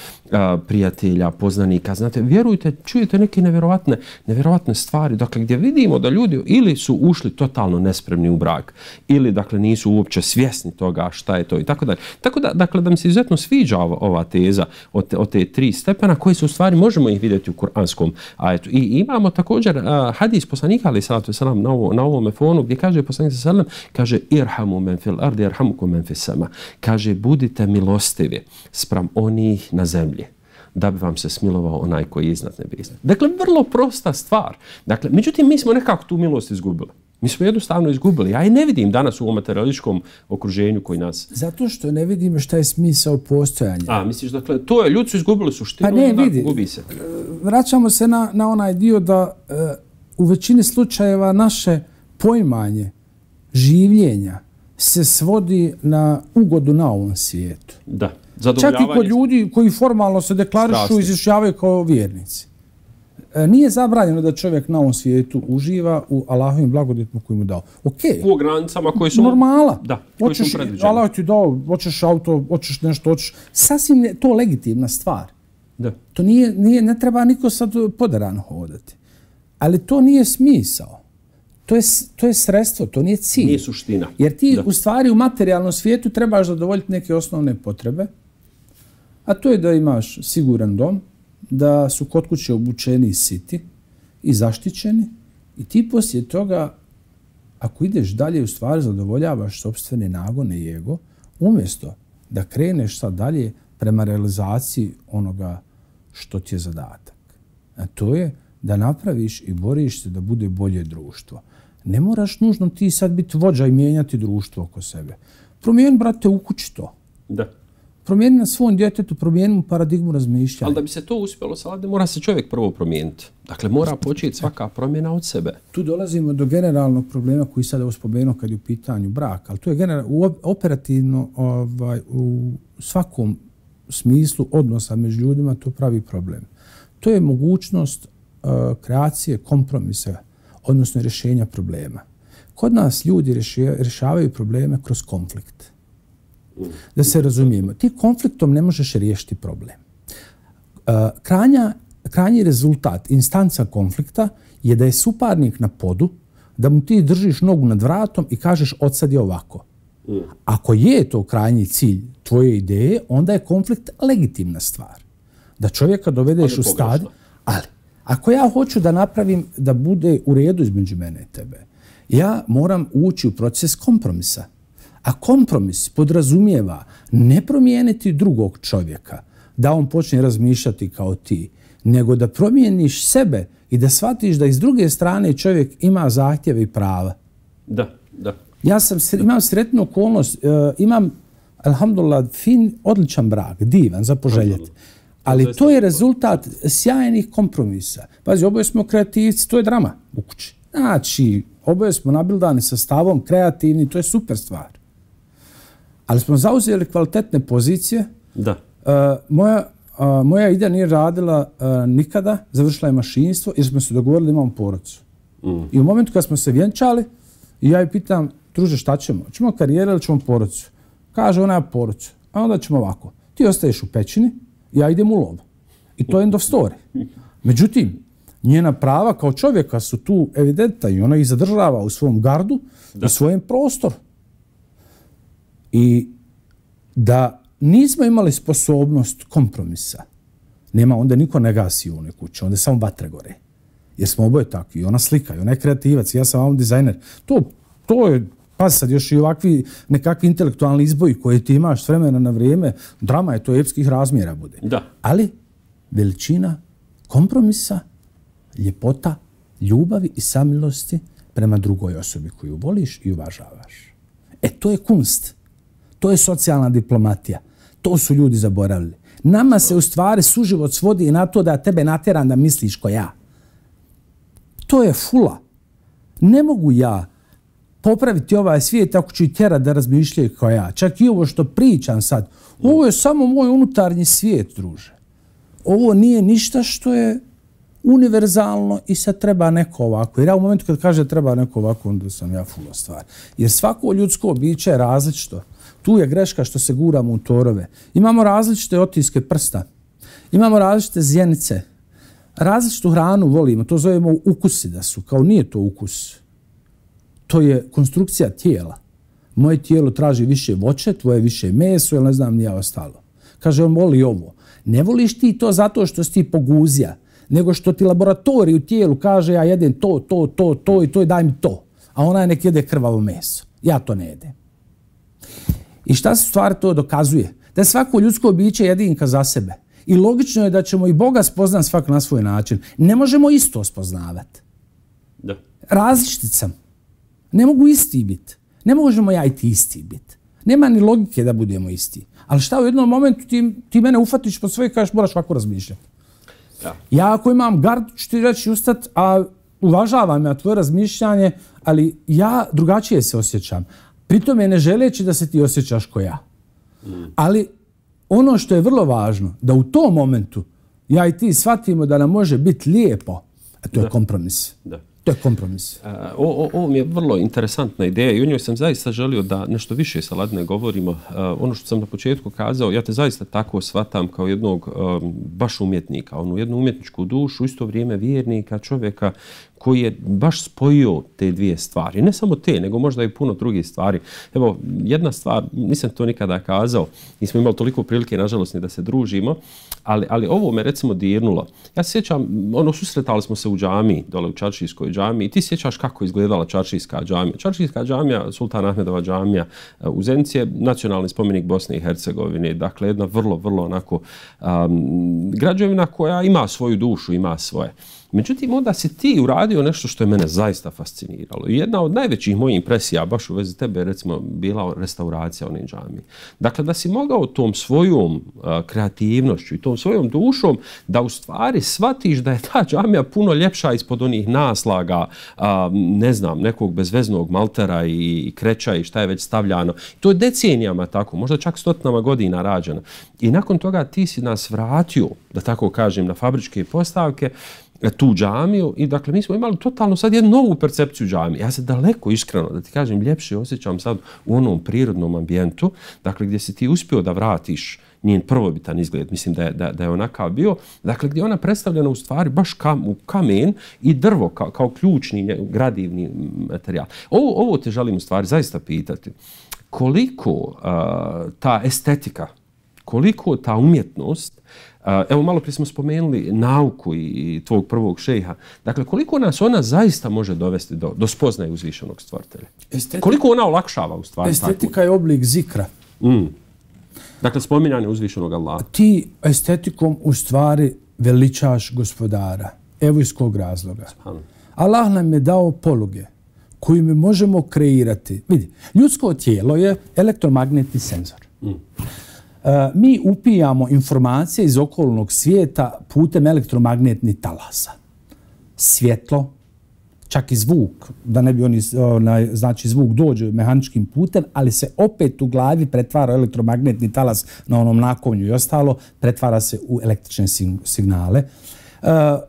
prijatelja, poznanika, znate, vjerujte, čujete neke nevjerovatne, nevjerovatne stvari, dakle, gdje vidimo da ljudi ili su ušli totalno nespremni u brak, ili, dakle, nisu uopće svjesni toga šta je to i tako dalje. Tako da, dakle, da mi se izuzetno sviđa ova, ova teza od te, od te tri stepena koji su u stvari, možemo ih vidjeti u kuranskom ajetu. I imamo također uh, hadis poslanika, ali salatu selam, na, ovo, na ovome fonu, gdje kaže poslanik selam, kaže, irhamu men fil ardi, irhamukum men fis sama. Kaže, budite milostivi spram onih na zemlji, da bi vam se smilovao onaj koji je iznad nebesa. Dakle, vrlo prosta stvar. Dakle, međutim, mi smo nekako tu milost izgubili. Mi smo jednostavno izgubili. Ja i ne vidim danas u ovom materialističkom okruženju koji nas... Zato što ne vidimo šta je smisao postojanja. A, misliš, dakle, to je, ljudi su izgubili suštinu, pa ne, da vidi, gubi se. Vraćamo se na, na onaj dio da uh, u većini slučajeva naše poimanje življenja se svodi na ugodu na ovom svijetu. Da. Čak i kod ljudi koji formalno se deklarišu i izjašnjavaju kao vjernici. E, nije zabranjeno da čovjek na ovom svijetu uživa u Allahovim blagodatima koji mu dao. Okay. U granicama koji su... Normala. Da, koji hoćeš, su predviđeni. Allah ti dao, hoćeš auto, hoćeš nešto, hoćeš... Sasvim je to legitimna stvar. Da. To nije, nije, ne treba niko sad poderan hodati. Ali to nije smisao. To je, to je sredstvo, to nije cilj. Nije suština. Jer ti da. u stvari u materijalnom svijetu trebaš zadovoljiti neke osnovne potrebe, a to je da imaš siguran dom, da su kod kuće obučeni i siti i zaštićeni i ti poslije toga, ako ideš dalje, u stvari zadovoljavaš sopstvene nagone i ego, umjesto da kreneš sad dalje prema realizaciji onoga što ti je zadatak. A to je da napraviš i boriš se da bude bolje društvo. Ne moraš nužno ti sad biti vođa i mijenjati društvo oko sebe. Promijeni, brate, u kući to. Da. Promijeni na svom djetetu, promijeni mu paradigmu razmišljanja. Ali da bi se to uspjelo, Salade, mora se čovjek prvo promijeniti. Dakle, mora početi svaka promjena od sebe. Tu dolazimo do generalnog problema koji sad je spomenuo kad je u pitanju brak. Ali to je general, operativno ovaj, u svakom smislu odnosa među ljudima to pravi problem. To je mogućnost uh, kreacije kompromisa, odnosno rješenja problema. Kod nas ljudi rješavaju probleme kroz konflikt. Da se razumijemo, ti konfliktom ne možeš riješiti problem. Uh, kranja, krajnji rezultat, instanca konflikta je da je suparnik na podu, da mu ti držiš nogu nad vratom i kažeš odsad je ovako. Ako je to krajnji cilj tvoje ideje, onda je konflikt legitimna stvar. Da čovjeka dovedeš u stad, ali ako ja hoću da napravim da bude u redu između mene i tebe, ja moram ući u proces kompromisa. A kompromis podrazumijeva ne promijeniti drugog čovjeka, da on počne razmišljati kao ti, nego da promijeniš sebe i da shvatiš da iz druge strane čovjek ima zahtjeve i prava. Da, da. Ja sam, imam sretnu okolnost, imam, alhamdulillah, fin, odličan brak, divan, za poželjeti. Ali to je rezultat sjajnih kompromisa. Pazi, oboje smo kreativci, to je drama u kući. Znači, oboje smo nabildani sa stavom, kreativni, to je super stvar. Ali smo zauzeli kvalitetne pozicije. Da. Uh, moja, uh, moja ida nije radila uh, nikada, završila je mašinstvo jer smo se dogovorili da imamo porodicu. Mm. I u momentu kad smo se vjenčali, ja je pitam, druže, šta ćemo? Ćemo karijeru ili ćemo porodicu? Kaže, ona je porodicu. A onda ćemo ovako. Ti ostaješ u pećini, ja idem u lov. I to je end of story. Međutim, njena prava kao čovjeka su tu evidentna i ona ih zadržava u svom gardu, da. U svojem prostoru. I da nismo imali sposobnost kompromisa, nema, onda niko ne gasi u onoj kući, onda samo vatre gore. Jer smo oboje takvi, ona slika, ona je kreativac, ja sam vam dizajner. To, to je Pa sad još i ovakvi nekakvi intelektualni izboji koje ti imaš s vremena na vrijeme, drama je to epskih razmjera bude. Da. Ali veličina kompromisa, ljepota, ljubavi i samilosti prema drugoj osobi koju voliš i uvažavaš. E, to je kunst. To je socijalna diplomatija. To su ljudi zaboravili. Nama se u stvari suživot svodi na to da tebe natjeram da misliš ko ja. To je fula. Ne mogu ja popraviti ovaj svijet ako ću i tjerat da razmišljaju kao ja. Čak i ovo što pričam sad. Ovo je samo moj unutarnji svijet, druže. Ovo nije ništa što je univerzalno i sad treba neko ovako. Jer ja u momentu kad kaže treba neko ovako, onda sam ja fulo stvar. Jer svako ljudsko biće je različito. Tu je greška što se guramo u torove. Imamo različite otiske prsta. Imamo različite zjenice. Različitu hranu volimo. To zovemo ukusi da su. Kao nije to ukus. To je konstrukcija tijela. Moje tijelo traži više voće, tvoje više meso, ili ne znam nije ostalo. Kaže, on voli ovo. Ne voliš ti to zato što si ti poguzija, nego što ti laboratorij u tijelu kaže ja jedem to, to, to, to i to i daj mi to. A onaj nek jede krvavo meso. Ja to ne jedem. I šta se stvari to dokazuje? Da je svako ljudsko biće jedinka za sebe. I logično je da ćemo i Boga spoznat svak na svoj način. Ne možemo isto spoznavati. Da. Različit sam. Ne mogu isti biti. Ne možemo ja i ti isti biti. Nema ni logike da budemo isti. Ali šta u jednom momentu ti, ti mene ufatiš po svoje i kažeš moraš ovako razmišljati. Da. Ja ako imam gardu ću ti reći ustat, a uvažavam ja tvoje razmišljanje, ali ja drugačije se osjećam. Pritome ne želeći da se ti osjećaš ko ja. Mm. Ali ono što je vrlo važno, da u tom momentu ja i ti shvatimo da nam može biti lijepo, a to je da. kompromis. Da. To je kompromis. Uh, o, ovo mi je vrlo interesantna ideja i o njoj sam zaista želio da nešto više sa Ladne govorimo. Uh, ono što sam na početku kazao, ja te zaista tako shvatam kao jednog um, baš umjetnika, onu jednu umjetničku dušu, u isto vrijeme vjernika, čovjeka koji je baš spojio te dvije stvari. Ne samo te, nego možda i puno drugih stvari. Evo, jedna stvar, nisam to nikada kazao, nismo imali toliko prilike, nažalost, ni da se družimo, ali, ali ovo me recimo dirnulo. Ja se sjećam, ono, susretali smo se u džamiji, dole u Čaršijskoj džamiji, i ti sjećaš kako je izgledala Čaršijska džamija. Čaršijska džamija, Sultan Ahmedova džamija u Zenici je nacionalni spomenik Bosne i Hercegovine. Dakle, jedna vrlo, vrlo onako um, građevina koja ima svoju dušu, ima svoje. Međutim, onda si ti uradio nešto što je mene zaista fasciniralo. I jedna od najvećih mojih impresija, baš u vezi tebe, recimo, bila restauracija one džamije. Dakle, da si mogao tom svojom uh, kreativnošću i tom svojom dušom da u stvari shvatiš da je ta džamija puno ljepša ispod onih naslaga, uh, ne znam, nekog bezveznog maltera i, i kreća i šta je već stavljano. To je decenijama tako, možda čak stotinama godina rađeno. I nakon toga ti si nas vratio, da tako kažem, na fabričke postavke, tu džamiju i dakle mi smo imali totalno sad jednu novu percepciju džamije. Ja se daleko iskreno, da ti kažem, ljepše osjećam sad u onom prirodnom ambijentu, dakle gdje si ti uspio da vratiš njen prvobitan izgled, mislim da je, da, da je onakav bio, dakle gdje je ona predstavljena u stvari baš kam, u kamen i drvo kao, kao ključni gradivni materijal. Ovo, ovo te želim u stvari zaista pitati. Koliko uh, ta estetika, koliko ta umjetnost, evo malo prije smo spomenuli nauku i tvog prvog šejha, dakle koliko nas ona zaista može dovesti do, do spoznaje uzvišenog stvoritelja? Estetika, koliko ona olakšava u stvari? Estetika tako? Je oblik zikra. Mm. Dakle, spominjanje uzvišenog Allaha. Ti estetikom u stvari veličaš gospodara. Evo iz kog razloga. Span. Allah nam je dao poluge koji mi možemo kreirati. Vidi, ljudsko tijelo je elektromagnetni senzor. Mm. Mi upijamo informacije iz okolnog svijeta putem elektromagnetnih talasa. Svjetlo, čak i zvuk, da ne bi oni, znači zvuk dođe mehaničkim putem, ali se opet u glavi pretvara elektromagnetni talas na onom nakovnju i ostalo, pretvara se u električne signale.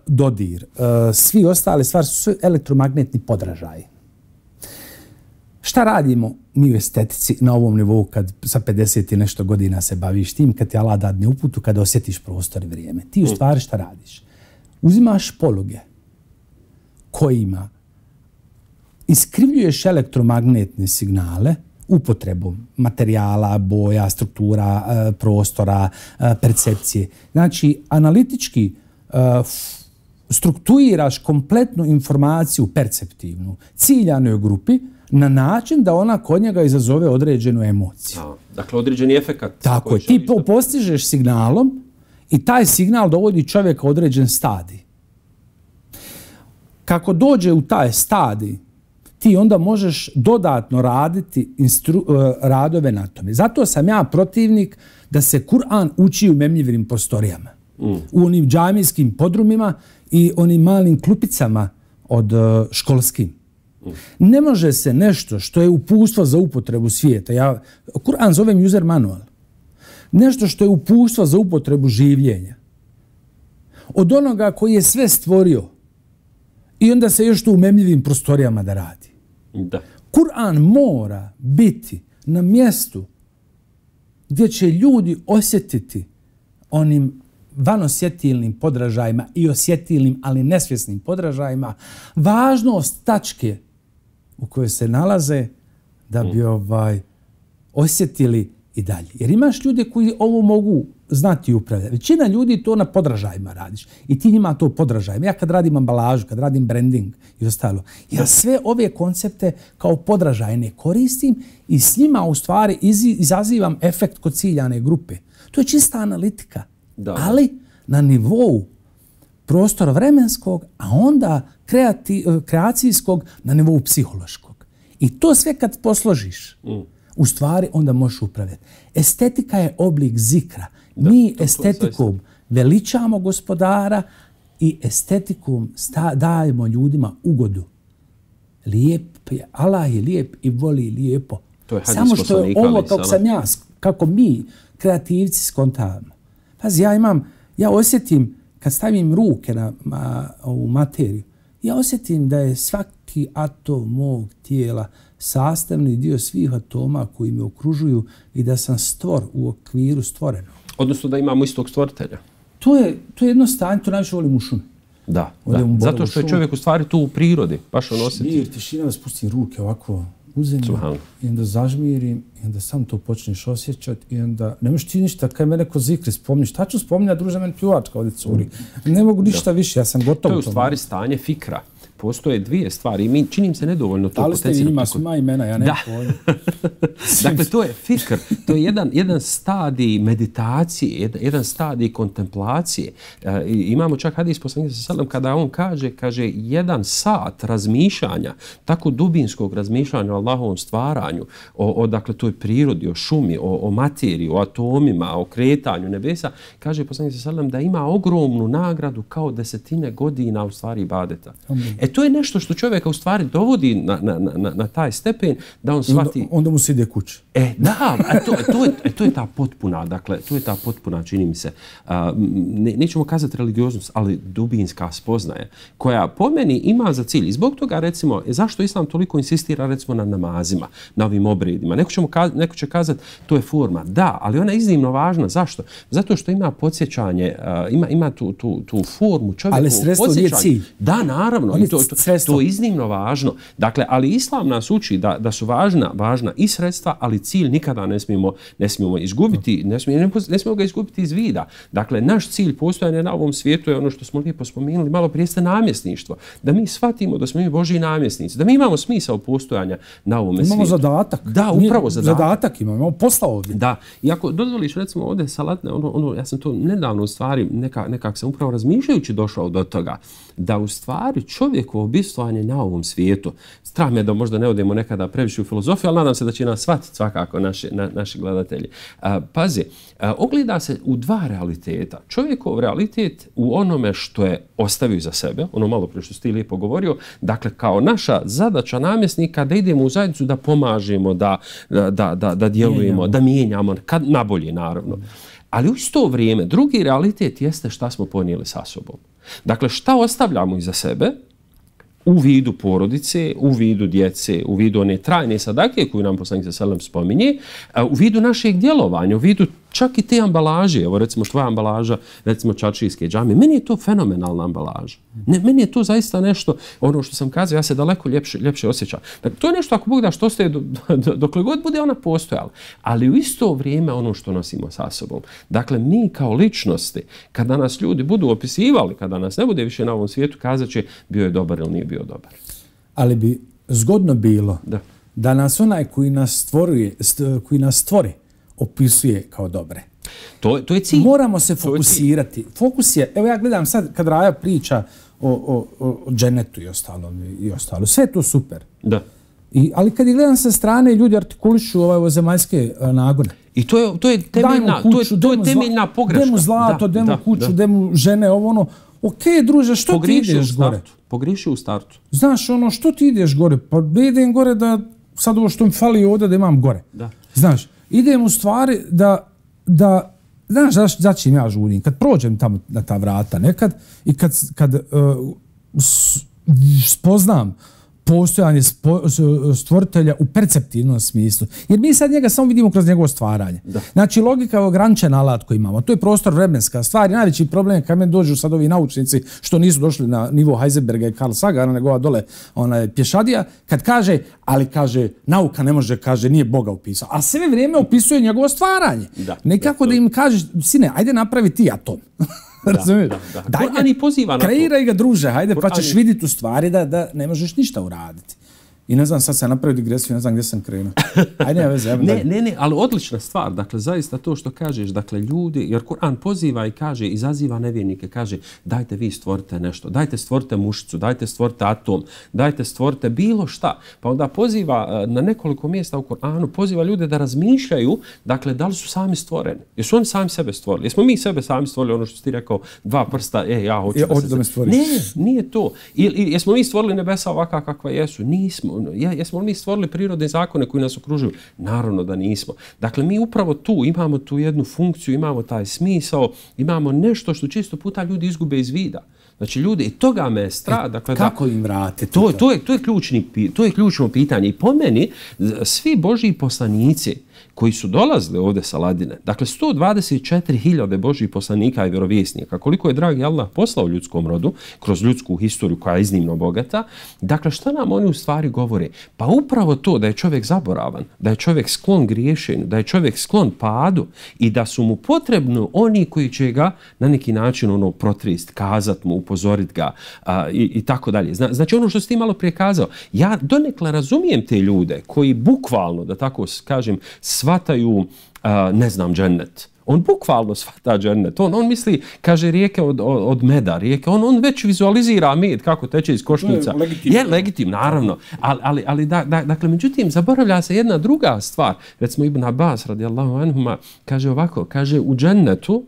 Dodir, svi ostale stvari su elektromagnetni podražaji. Šta radimo mi u estetici na ovom nivou kad sa pedeset i nešto godina se baviš tim, kad ti Allah dadne uputu, kada osjetiš prostor i vrijeme? Ti u stvari šta radiš? Uzimaš poluge kojima iskrivljuješ elektromagnetne signale upotrebom materijala, boja, struktura, prostora, percepcije. Znači, analitički strukturiraš kompletnu informaciju perceptivnu ciljanoj grupi, na način da ona kod njega izazove određenu emociju. A, dakle, određeni efekat. Tako je, ti po, postižeš signalom i taj signal dovodi čovjeka u određen stadij. Kako dođe u taj stadij, ti onda možeš dodatno raditi instru, radove na tome. Zato sam ja protivnik da se Kur'an uči u memljivim prostorijama. Mm. U onim džamijskim podrumima i onim malim klupicama od školskim. Mm. Ne može se nešto što je uputstvo za upotrebu svijeta. Ja Kur'an zovem user manual. Nešto što je uputstvo za upotrebu življenja. Od onoga koji je sve stvorio i onda se još to u memljivim prostorijama da radi. Da. Kur'an mora biti na mjestu gdje će ljudi osjetiti onim vanosjetilnim podražajima i osjetilnim, ali nesvjesnim podražajima, važnost tačke u kojoj se nalaze da bi ovaj osjetili i dalje. Jer imaš ljude koji ovo mogu znati i upravljati. Većina ljudi to na podražajima radiš. I ti njima to podražajima. Ja kad radim ambalažu, kad radim branding i ostalo, ja sve ove koncepte kao podražajne koristim i s njima u stvari izazivam efekt kod ciljane grupe. To je čista analitika. Da. Ali na nivou prostora vremenskog, a onda kreati, kreacijskog na nivou psihološkog. I to sve kad posložiš, mm. u stvari onda možeš upravljati. Estetika je oblik zikra. Da, mi to, estetikom to veličamo gospodara i estetikom sta, dajemo ljudima ugodu. Lijep je, Allah je lijep i voli lijepo. To je samo što je ovo kako sam ja, kako mi kreativci skontavamo. Pazi, ja imam, ja osjetim kad stavim ruke na, na u materiju, ja osjetim da je svaki atom mog tijela sastavni dio svih atoma koji me okružuju i da sam stvor u okviru stvoreno. Odnosno da imamo istog stvoritelja. To je, to je jedno stanje, to najviše volim u šumi. Da, da. Zato što je čovjek u stvari tu u prirodi, baš on osjeti. Mir, tišina, da spustim ruke ovako u zemlju i onda zažmirim i onda sam to počneš osjećati i onda ne možeš ti ništa, kaj me neko zikri spomniš, šta ću spominjati, druže, meni pljuvačka ovdje curi. Ne mogu ništa da. više, ja sam gotov. To je u stvari stanje fikra. Postoje dvije stvari i mi činim se nedovoljno to potencijno. Ali ste vi njima svima imena, ja ne pojim. Dakle, to je fikr, to je jedan, jedan stadij meditacije, jedan, jedan stadij kontemplacije. E, imamo čak hadis poslanika sallallahu alejhi ve sellem kada on kaže, kaže, jedan sat razmišljanja, tako dubinskog razmišljanja o Allahovom stvaranju, o, o dakle, toj prirodi, o šumi, o, o materiji, o atomima, o kretanju nebesa, kaže poslanik sallallahu alejhi ve sellem da ima ogromnu nagradu kao desetine godina u stvari ibadeta. E to je nešto što čovjeka u stvari dovodi na, na, na, na taj stepen da on shvati... Onda, onda mu se ide kući. E, da, a to, to, je, to je ta potpuna, dakle, to je ta potpuna, čini mi se, uh, ne, nećemo kazati religioznost, ali dubinska spoznaje, koja po meni ima za cilj. I zbog toga, recimo, zašto Islam toliko insistira, recimo, na namazima, na ovim obredima? Neko, ćemo kaz, neko će kazati, to je forma. Da, ali ona je iznimno važna. Zašto? Zato što ima podsjećanje, uh, ima, ima tu, tu, tu formu čovjeku. Ali sredstvo nije cilj. Da, naravno. I to, to, to je iznimno važno. Dakle, ali Islam nas uči da, da su važna, važna i sredstva, ali cilj nikada ne smijemo, ne smijemo izgubiti, ne smijemo, ne smijemo ga izgubiti iz vida. Dakle, naš cilj postojanja na ovom svijetu je ono što smo lijepo spomenuli, malo prije ste namjesništvo. Da mi shvatimo da smo mi Božji namjesnici, da mi imamo smisao postojanja na ovom svijetu. Imamo zadatak. Da, upravo zadatak. Zadatak imamo, imamo posla ovdje. Da, i ako dozvoliš, recimo, ovdje salatne, ono, ono, ja sam to nedavno u stvari, neka, nekak sam upravo razmišljajući došao do toga, da u stvari čovjekovo bistvovanje na ovom svijetu, strah me da možda ne odemo nekada previše u filozofiju, ali nadam se da će nas shvatiti svakako naši, na, naši gledatelji. A, pazi, a, ogleda se u dva realiteta. Čovjekov realitet u onome što je ostavio za sebe, ono malo prije što si ti lijepo govorio, dakle kao naša zadaća namjesnika da idemo u zajednicu, da pomažemo, da, da, da, da djelujemo, mijenjamo. da mijenjamo, kad nabolje naravno. Ali u isto vrijeme drugi realitet jeste šta smo ponijeli sa sobom. Dakle, šta ostavljamo iza sebe u vidu porodice, u vidu djece, u vidu one trajne sadake koju nam poslanik sallallahu alejhi ve sellem spominje, u vidu našeg djelovanja, u vidu čak i te ambalaže, evo recimo tvoja ambalaža, recimo čaršijske džame, meni je to fenomenalna ambalaža. Ne, meni je to zaista nešto, ono što sam kazao, ja se daleko ljepše, ljepše osjećam. Dakle, to je nešto, ako Bog da, što ostaje do, do, dokle god bude ona postojala. Ali u isto vrijeme ono što nosimo sa sobom. Dakle, mi kao ličnosti, kada nas ljudi budu opisivali, kada nas ne bude više na ovom svijetu, kazat će bio je dobar ili nije bio dobar. Ali bi zgodno bilo da. da nas onaj koji nas stvori, koji nas stvori opisuje kao dobre. To, to je cilj. Moramo se fokusirati. Fokus je, evo ja gledam sad kad Raja priča o, o, o dženetu i ostalo, i ostalo. Sve je to super. Da. I, ali kad je gledam sa strane, ljudi artikulišu ovaj, ovo zemaljske nagone. I to je, to je temeljna, kuću, to je, to je temeljna pogreška. Demu zlato, da, demu da, kuću, da. demu žene, ovo ono. Okej, druže, što Pogriši ti ideš gore? Pogriši u startu. Znaš, ono, što ti ideš gore? Pa ne idem gore da sad ovo što mi fali ovdje da imam gore. Da. Znaš, idem u stvari da, da znaš, zaš, začim ja žudim. Kad prođem tamo na ta vrata nekad i kad, kad uh, spoznam postojanje spo, stvoritelja u perceptivnom smislu. Jer mi sad njega samo vidimo kroz njegovo stvaranje. Da. Znači, logika je ograničen alat koji imamo. To je prostor vremenska stvar. Najveći problem je kad me dođu sad ovi naučnici što nisu došli na nivo Heisenberga i Carl Sagana, nego ova dole onaj, pješadija, kad kaže, ali kaže, nauka ne može, kaže, nije Boga upisao. A sve vrijeme opisuje njegovo stvaranje. Da, nekako da, da im kažeš, sine, ajde napravi ti atom. Razumiješ? Da, da, da. Daj ga, ani poziva na to. Kreiraj ga, druže, hajde, pa ćeš vidjeti u stvari da, da ne možeš ništa uraditi. I ne znam, sad sam napravio digresiju, ne znam gdje sam krenuo. Ajde, ne veze. Ne, ne, ne, ali odlična stvar. Dakle, zaista to što kažeš, dakle, ljudi, jer Kur'an poziva i kaže, izaziva nevjernike, kaže, dajte vi stvorite nešto, dajte stvorite mušicu, dajte stvorite atom, dajte stvorite bilo šta. Pa onda poziva na nekoliko mjesta u Kur'anu, poziva ljude da razmišljaju, dakle, da li su sami stvoreni. Jesu oni sami sebe stvorili? Jesmo mi sebe sami stvorili, ono što ti rekao, dva prsta, e, ja hoću ja, da se... Da me stvoriš. Ne, nije to. I, i, jesmo mi stvorili nebesa ovakva kakva jesu? Nismo. Jesmo li mi stvorili prirodne zakone koji nas okružuju? Naravno da nismo. Dakle, mi upravo tu imamo tu jednu funkciju, imamo taj smisao, imamo nešto što često puta ljudi izgube iz vida. Znači, ljudi, i toga me strada. Dakle, kako im vratiti to? To je, to je, ključni, to je ključno pitanje. I po meni, svi Božji poslanici koji su dolazili ovdje sa Ladine, dakle sto dvadeset četiri hiljade Božjih poslanika i vjerovjesnika, koliko je dragi Allah poslao ljudskom rodu, kroz ljudsku historiju koja je iznimno bogata, dakle šta nam oni u stvari govore? Pa upravo to da je čovjek zaboravan, da je čovjek sklon griješenju, da je čovjek sklon padu i da su mu potrebno oni koji će ga na neki način ono protrist, kazat mu, upozorit ga a, i, i tako dalje. Zna, znači ono što si ti malo prije kazao, ja donekle razumijem te ljude koji bukvalno, da tako kažem, shvataju, uh, ne znam, džennet. On bukvalno shvata džennet. On, on misli, kaže, rijeke od, od, od meda, rijeke. On, on već vizualizira med kako teče iz košnica. Je legitimno. Je legitim, naravno. Ali, ali, ali da, da, dakle, međutim, zaboravlja se jedna druga stvar. Recimo, Ibn Abbas, radijallahu anhuma, kaže ovako, kaže, u džennetu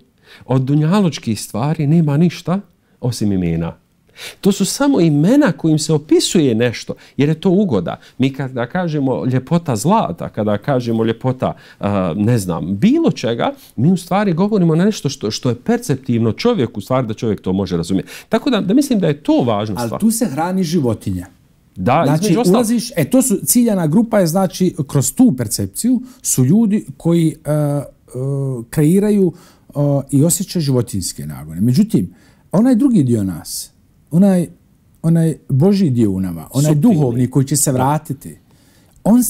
od dunjalučkih stvari nema ništa osim imena. To su samo imena kojim se opisuje nešto, jer je to ugoda. Mi kada kažemo ljepota zlata, kada kažemo ljepota, uh, ne znam, bilo čega, mi u stvari govorimo na nešto što, što je perceptivno čovjeku, u stvari da čovjek to može razumjeti. Tako da, da mislim da je to važna stvar. Ali tu se hrani životinja. Da, znači, ulaziš, e, to su ciljana grupa je, znači, kroz tu percepciju su ljudi koji uh, uh, kreiraju uh, i osjećaju životinjske nagone. Međutim, onaj drugi dio nas, onaj, onaj Božji dio u nama, onaj Suptilni. Duhovni koji će se vratiti, on,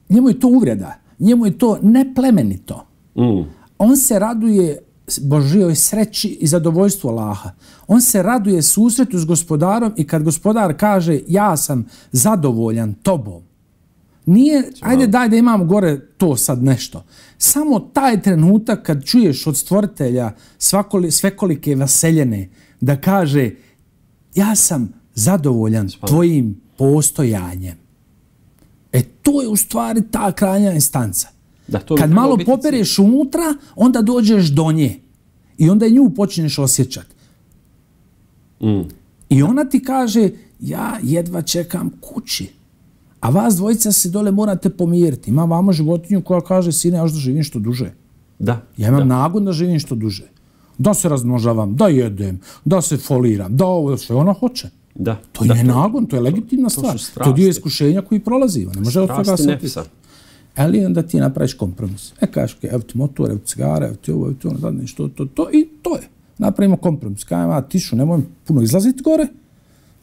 njemu je to uvreda, njemu je to neplemenito. Mm. On se raduje Božjoj sreći i zadovoljstvu Allaha. On se raduje susretu s gospodarom i kad gospodar kaže ja sam zadovoljan tobom, nije, ajde daj da imam gore to sad nešto. Samo taj trenutak kad čuješ od stvoritelja svakoli, svekolike vaseljene da kaže ja sam zadovoljan tvojim postojanjem. E to je u stvari ta krajnja instanca. Da, to kad malo popereš unutra, onda dođeš do nje. I onda nju počneš osjećati. Mm. I ona ti kaže, ja jedva čekam kući. A vas dvojica se dole morate pomiriti. Ima vamo životinju koja kaže, sine, ja da živim što duže. Da. Ja imam da. nagon da živim što duže. Da se razmnožavam, da jedem, da se foliram, da ovo, sve ona hoće. Da. To je nagon, to je legitimna to, stvar. To, to je dio iskušenja koji prolazi. Ne može od toga se opiti. Ali onda ti napraviš kompromis. E, kažeš, evo ti motor, evo ti cigara, evo ti ovo, evo ti ono, zadnje, što, to, to, i to je. Napravimo kompromis. Kajem, a tišu, nemoj puno izlaziti gore,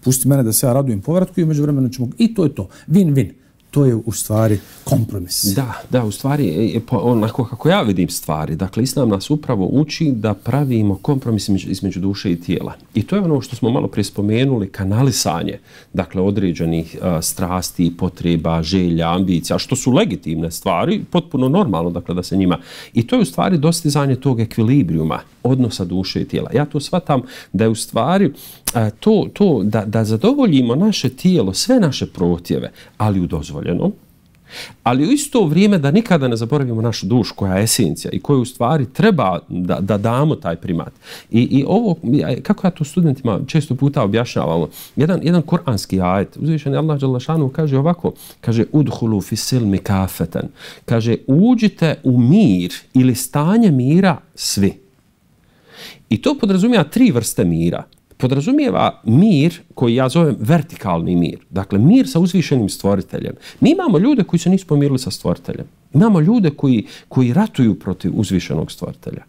pusti mene da se ja radujem povratku i među vremenu ćemo... I to je to. Win-win. to je u stvari kompromis. Da, da, u stvari, onako kako ja vidim stvari, dakle, Islam nas upravo uči da pravimo kompromis između duše i tijela. I to je ono što smo malo prije spomenuli, kanalisanje, dakle, određenih uh, strasti, potreba, želja, ambicija, što su legitimne stvari, potpuno normalno, dakle, da se njima... I to je u stvari dostizanje tog ekvilibrijuma, odnosa duše i tijela. Ja to shvatam da je u stvari uh, to, to da, da zadovoljimo naše tijelo, sve naše protjeve, ali u dozvoljenom, ali u isto vrijeme da nikada ne zaboravimo našu dušu koja je esencija i koju u stvari treba da, da damo taj primat. I, i ovo, kako ja to studentima često puta objašnjavamo, jedan, jedan kuranski ajet, uzvišeni Allah dželle šanuhu kaže ovako, kaže udhulu fi silmi kafetan, kaže uđite u mir ili stanje mira svi. I to podrazumijeva tri vrste mira. Podrazumijeva mir koji ja zovem vertikalni mir. Dakle, mir sa uzvišenim stvoriteljem. Mi imamo ljude koji se nisu pomirili sa stvoriteljem. Imamo ljude koji, koji ratuju protiv uzvišenog stvoritelja.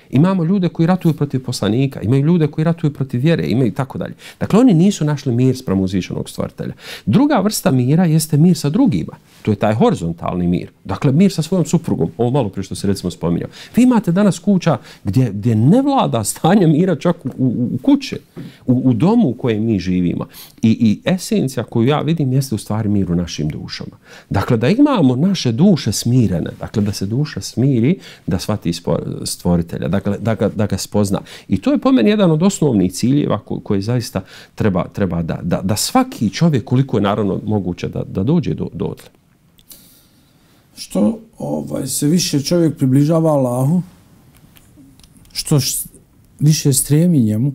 Imamo ljude koji ratuju protiv poslanika, imaju ljude koji ratuju protiv vjere, imaju tako dalje. Dakle, oni nisu našli mir sprem uzvišenog stvoritelja. Druga vrsta mira jeste mir sa drugima. To je taj horizontalni mir. Dakle, mir sa svojom suprugom. Ovo malo prije što se recimo spominjao. Vi imate danas kuća gdje, gdje ne vlada stanje mira čak u, u, u kuće, u, u domu u kojem mi živimo. I, I esencija koju ja vidim jeste u stvari mir u našim dušama. Dakle, da imamo naše duše smirene, dakle, da se duša smiri, da shvati stvoritelja, dakle, da ga, da ga spozna. I to je po meni jedan od osnovnih ciljeva koji, koji zaista treba, treba da, da, da svaki čovjek, koliko je naravno moguće da, da dođe do, do odle. Što ovaj, se više čovjek približava Allahu, što š, više stremi njemu,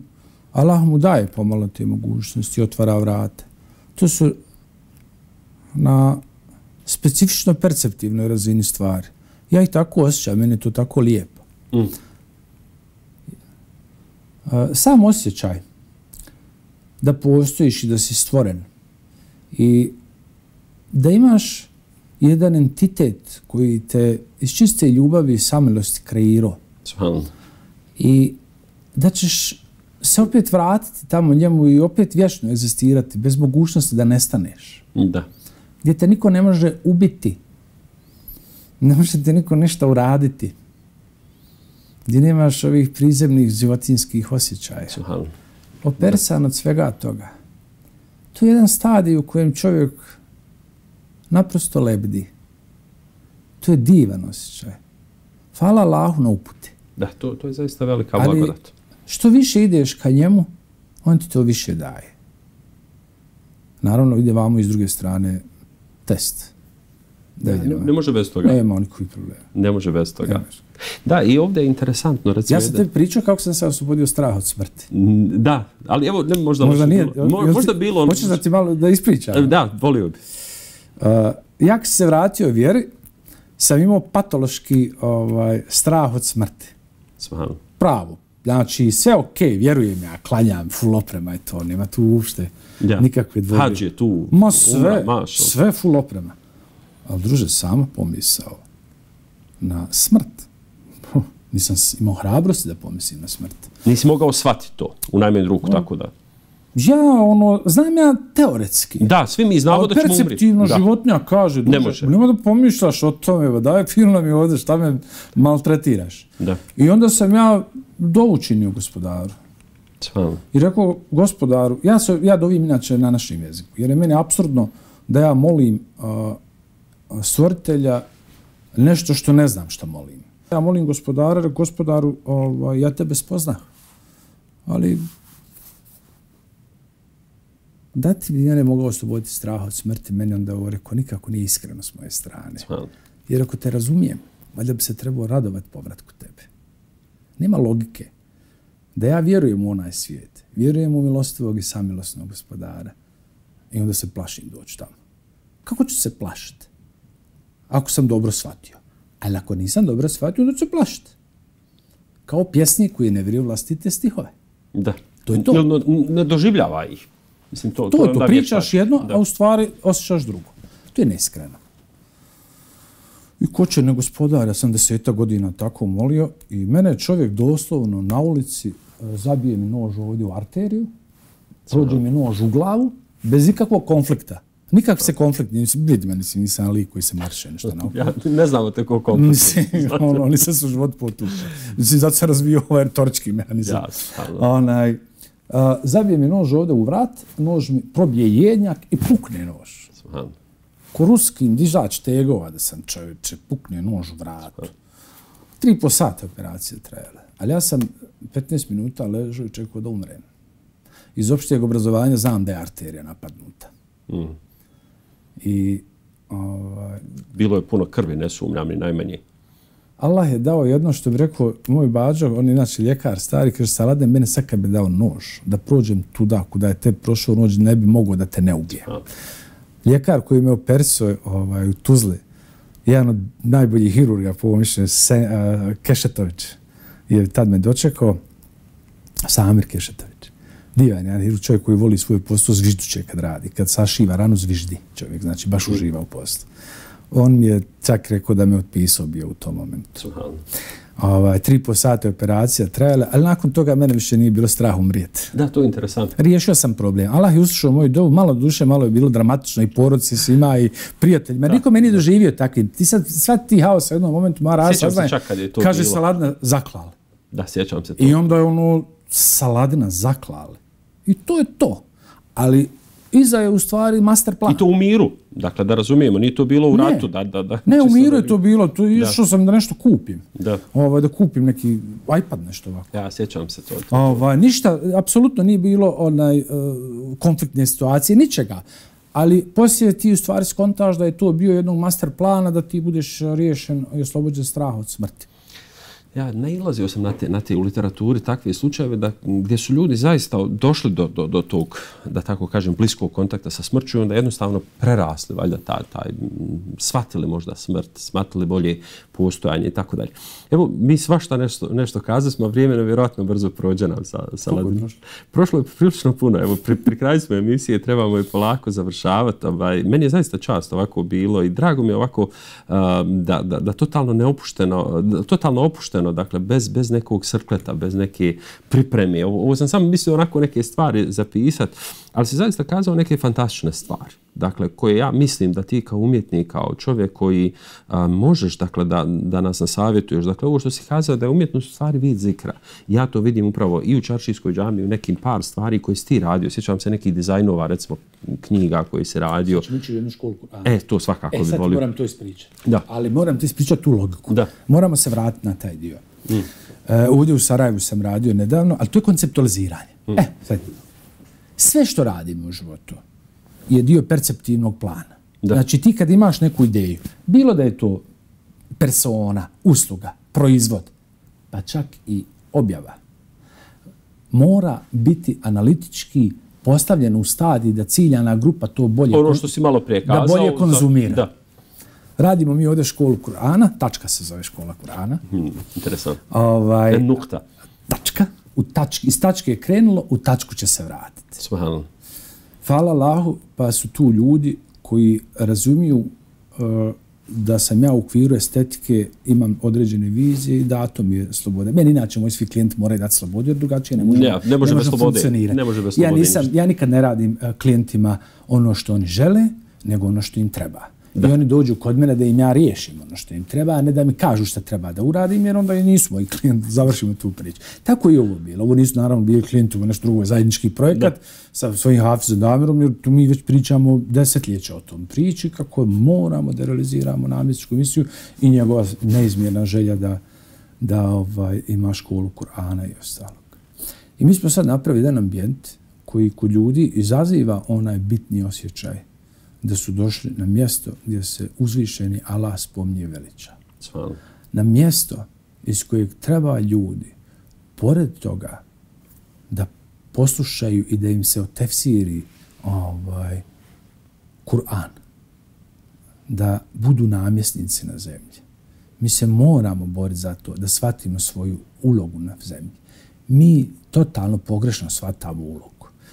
Allah mu daje pomalo te mogućnosti, otvara vrate. To su na specifično perceptivnoj razini stvari. Ja ih tako osjećam, meni je to tako lijepo. Mm. Sam osjećaj da postojiš i da si stvoren i da imaš jedan entitet koji te iz čiste ljubavi i samilosti kreirao. I da ćeš se opet vratiti tamo njemu i opet vječno egzistirati bez mogućnosti da nestaneš. Da. Gdje te niko ne može ubiti. Ne može te niko ništa uraditi. Gdje nemaš ovih prizemnih životinskih osjećaja. Opersan od svega toga. To je jedan stadij u kojem čovjek naprosto lebdi. To je divan osjećaj. Hvala Allahu na uputi. Da, to, to je zaista velika blagodat. Što više ideš ka njemu, on ti to više daje. Naravno, ide vamo iz druge strane test. Da ne, ne može bez toga. Nema nikakvih problema. Ne može bez toga. Ne može. Da, i ovdje je interesantno. Recimo, ja sam te pričao kako sam se oslobodio straha od smrti. Da, ali evo, ne, možda, možda nije. Mo, možda ti, bilo... Hoćeš da ti malo da ispričam? Da, volio bi. Uh, ja kad se vratio vjeri, sam imao patološki ovaj, strah od smrti. Smahano. Pravo. Znači, sve okej, okay, vjerujem ja, klanjam, full oprema i to, nema tu uopšte ja. nikakve dvojbe. Hadž je tu. Ma sve, umra, sve full oprema. Ali druže, samo pomisao na smrt. Nisam imao hrabrosti da pomislim na smrt. Nisi mogao shvatiti to u najmanju ruku, no. Tako da? Ja, ono, znam ja teoretski. Da, svi mi znamo da ćemo umriti. Perceptivno životinja kaže, ne može. Nema da pomišljaš o tome, daj film mi ovdje, šta me maltretiraš. Da. I onda sam ja dovučinio gospodaru. Svam. I rekao, gospodaru, ja, se, ja dovim inače na našem jeziku, jer je meni apsurdno da ja molim uh, stvoritelja nešto što ne znam što molim. Ja molim gospodara, gospodaru, ovaj, ja tebe spoznam. Ali da ti bi ja ne mogao osloboditi straha od smrti, meni onda ovo rekao, nikako nije iskreno s moje strane. Jer ako te razumijem, valjda bi se trebao radovati povratku tebe. Nema logike da ja vjerujem u onaj svijet, vjerujem u milostivog i samilosnog gospodara i onda se plašim doći tamo. Kako ću se plašiti? Ako sam dobro shvatio. Ali ako nisam dobro shvatio, onda ću se plašiti. Kao pjesnik koji ne vjeruje vlastite stihove. Da. To je to. Jel ne doživljava ih? Mislim, to, to, to, to, to pričaš jedno, da. A u stvari osjećaš drugo. To je neiskreno. I ko će ne gospodar, ja sam deseta godina tako molio i mene čovjek doslovno na ulici zabije mi nož ovdje u arteriju, prođe mi nož u glavu, bez ikakvog konflikta. Nikak se konflikt, vidi meni si, nisam lik koji se marše nešto na ja, ne znamo te ko konflikt. ono, oni se su život potučili. Mislim, zato se razvio ovaj retorički mehanizam. Ja, Onaj, uh, zabije mi nož ovdje u vrat, nož mi probije jednjak i pukne nož. Svan. Ko ruskim dižač tegova da sam čovječe, pukne nož u vratu. Tri i po sata operacije trajale. Ali ja sam petnaest minuta ležao i čekao da umrem. Iz opštijeg obrazovanja znam da je arterija napadnuta. Mm. I, ovaj, bilo je puno krvi, ne sumnjam ni najmanje. Allah je dao jedno što bi rekao moj bađo, on je inače ljekar stari, kaže Salade, mene sad kad bi dao nož, da prođem tuda kuda je te prošao nož, ne bi mogao da te ne ubije. A. Ljekar koji me operisao ovaj, u Tuzli, jedan od najboljih hirurga, po ovom mišljenju, uh, Kešetović, je tad me dočekao, Samir Kešetović. Divan, jedan čovjek koji voli svoj posao, zvižduće kad radi. Kad sašiva ranu, zviždi čovjek, znači baš uživa u poslu. On mi je čak rekao da me otpisao bio u tom momentu. Ovaj, tri i po sata operacija trajala, ali nakon toga mene više nije bilo strah umrijeti. Da, to je interesantno. Riješio sam problem. Allah je uslušao moju dovu, malo duše, malo je bilo dramatično i porodici svima i prijateljima. Da. Niko me nije doživio takvim. Ti sad, sva ti haos u jednom momentu mara rasaznaje. Kaže bilo. Saladina zaklali. Da, sjećam se to. I onda je ono Saladina zaklali. I to je to. Ali iza je u stvari master plan. I to u miru. Dakle, da razumijemo, nije to bilo u ne. ratu. Da, da, da, ne, u miru je to bilo. To išao sam da nešto kupim. Da. Ovaj, da kupim neki iPad, nešto ovako. Ja, sjećam se to. Ovaj, ništa, apsolutno nije bilo onaj, uh, konfliktne situacije, ničega. Ali poslije ti u stvari skontaš da je to bio jednog master plana da ti budeš riješen i oslobođen straha od smrti. Ja nailazio sam na te, na te u literaturi takve slučajeve da, gdje su ljudi zaista došli do, do, do tog, da tako kažem, bliskog kontakta sa smrću i onda jednostavno prerasli, valjda, taj, taj, shvatili možda smrt, shvatili bolje postojanje i tako dalje. Evo, mi svašta nešto, nešto kazali smo, a vrijeme nam vjerojatno brzo prođe nam sa, sa Ladinom. Prošlo je prilično puno. Evo, pri, pri kraju smo emisije, trebamo je polako završavati. Ovaj, meni je zaista čast ovako bilo i drago mi je ovako um, da, da, da totalno neopušteno, da, totalno opušteno, dakle, bez, bez nekog srkleta, bez neke pripreme. Ovo, ovo sam samo mislio onako neke stvari zapisati, ali si zaista kazao neke fantastične stvari. Dakle, koje ja mislim da ti kao umjetnik, kao čovjek koji a, možeš, dakle, da, da nas nasavjetuješ. Dakle, ovo što si kazao da je umjetnost stvari vid zikra. Ja to vidim upravo i u Čaršijskoj džamiji, u nekim par stvari koje si ti radio. Sjećam se nekih dizajnova, recimo, knjiga koji si radio. Znači, mi ću jednu školu Kur'ana. E, to svakako e, bi volio. E, sad moram to ispričati. Da. Ali moram ti ispričati tu logiku. Da. Moramo se vratiti na taj dio. Mm. Uh, ovdje u Sarajevu sam radio nedavno, ali to je konceptualiziranje. Mm. E, sad, sve što radimo u životu je dio perceptivnog plana. Da. Znači ti kad imaš neku ideju, bilo da je to persona, usluga, proizvod, pa čak i objava, mora biti analitički postavljeno u stadiji da ciljana grupa to bolje, ono što si malo prije kazao, da bolje konzumira. Da. Radimo mi ovdje školu Kur'ana, tačka se zove škola Kur'ana. Hmm, interesantno. Ovaj, en nukta. Tačka. U tački, iz tačke je krenulo, u tačku će se vratiti. Subhanallah. Hvala Allahu, pa su tu ljudi koji razumiju uh, da sam ja u okviru estetike, imam određene vizije i dato mi je slobode. Meni inače moji svi klijenti moraju dati slobodu jer drugačije ne možemo, ja, ne može ne bez slobode. Ne može bez slobode. Ja, nisam, ja nikad ne radim uh, klijentima ono što oni žele, nego ono što im treba. Da. I oni dođu kod mene da im ja riješim ono što im treba, a ne da mi kažu šta treba da uradim, jer onda i nisu moji klijenti, završimo tu priču. Tako i ovo bilo. Ovo nisu naravno bili klijenti, ovo nešto drugo, zajednički projekat da. Sa svojim Hafizom Damirom, jer tu mi već pričamo desetljeća o tom priči, kako moramo da realiziramo namjestičku misiju i njegova neizmjerna želja da, da ovaj, ima školu Kur'ana i ostalog. I mi smo sad napravili jedan ambijent koji kod ljudi izaziva onaj bitni osjećaj da su došli na mjesto gdje se uzvišeni Allah spominje veliča. Svala. Na mjesto iz kojeg treba ljudi, pored toga, da poslušaju i da im se otefsiri ovaj, Kur'an, da budu namjesnici na zemlji. Mi se moramo boriti za to, da shvatimo svoju ulogu na zemlji. Mi totalno pogrešno shvatamo ulogu.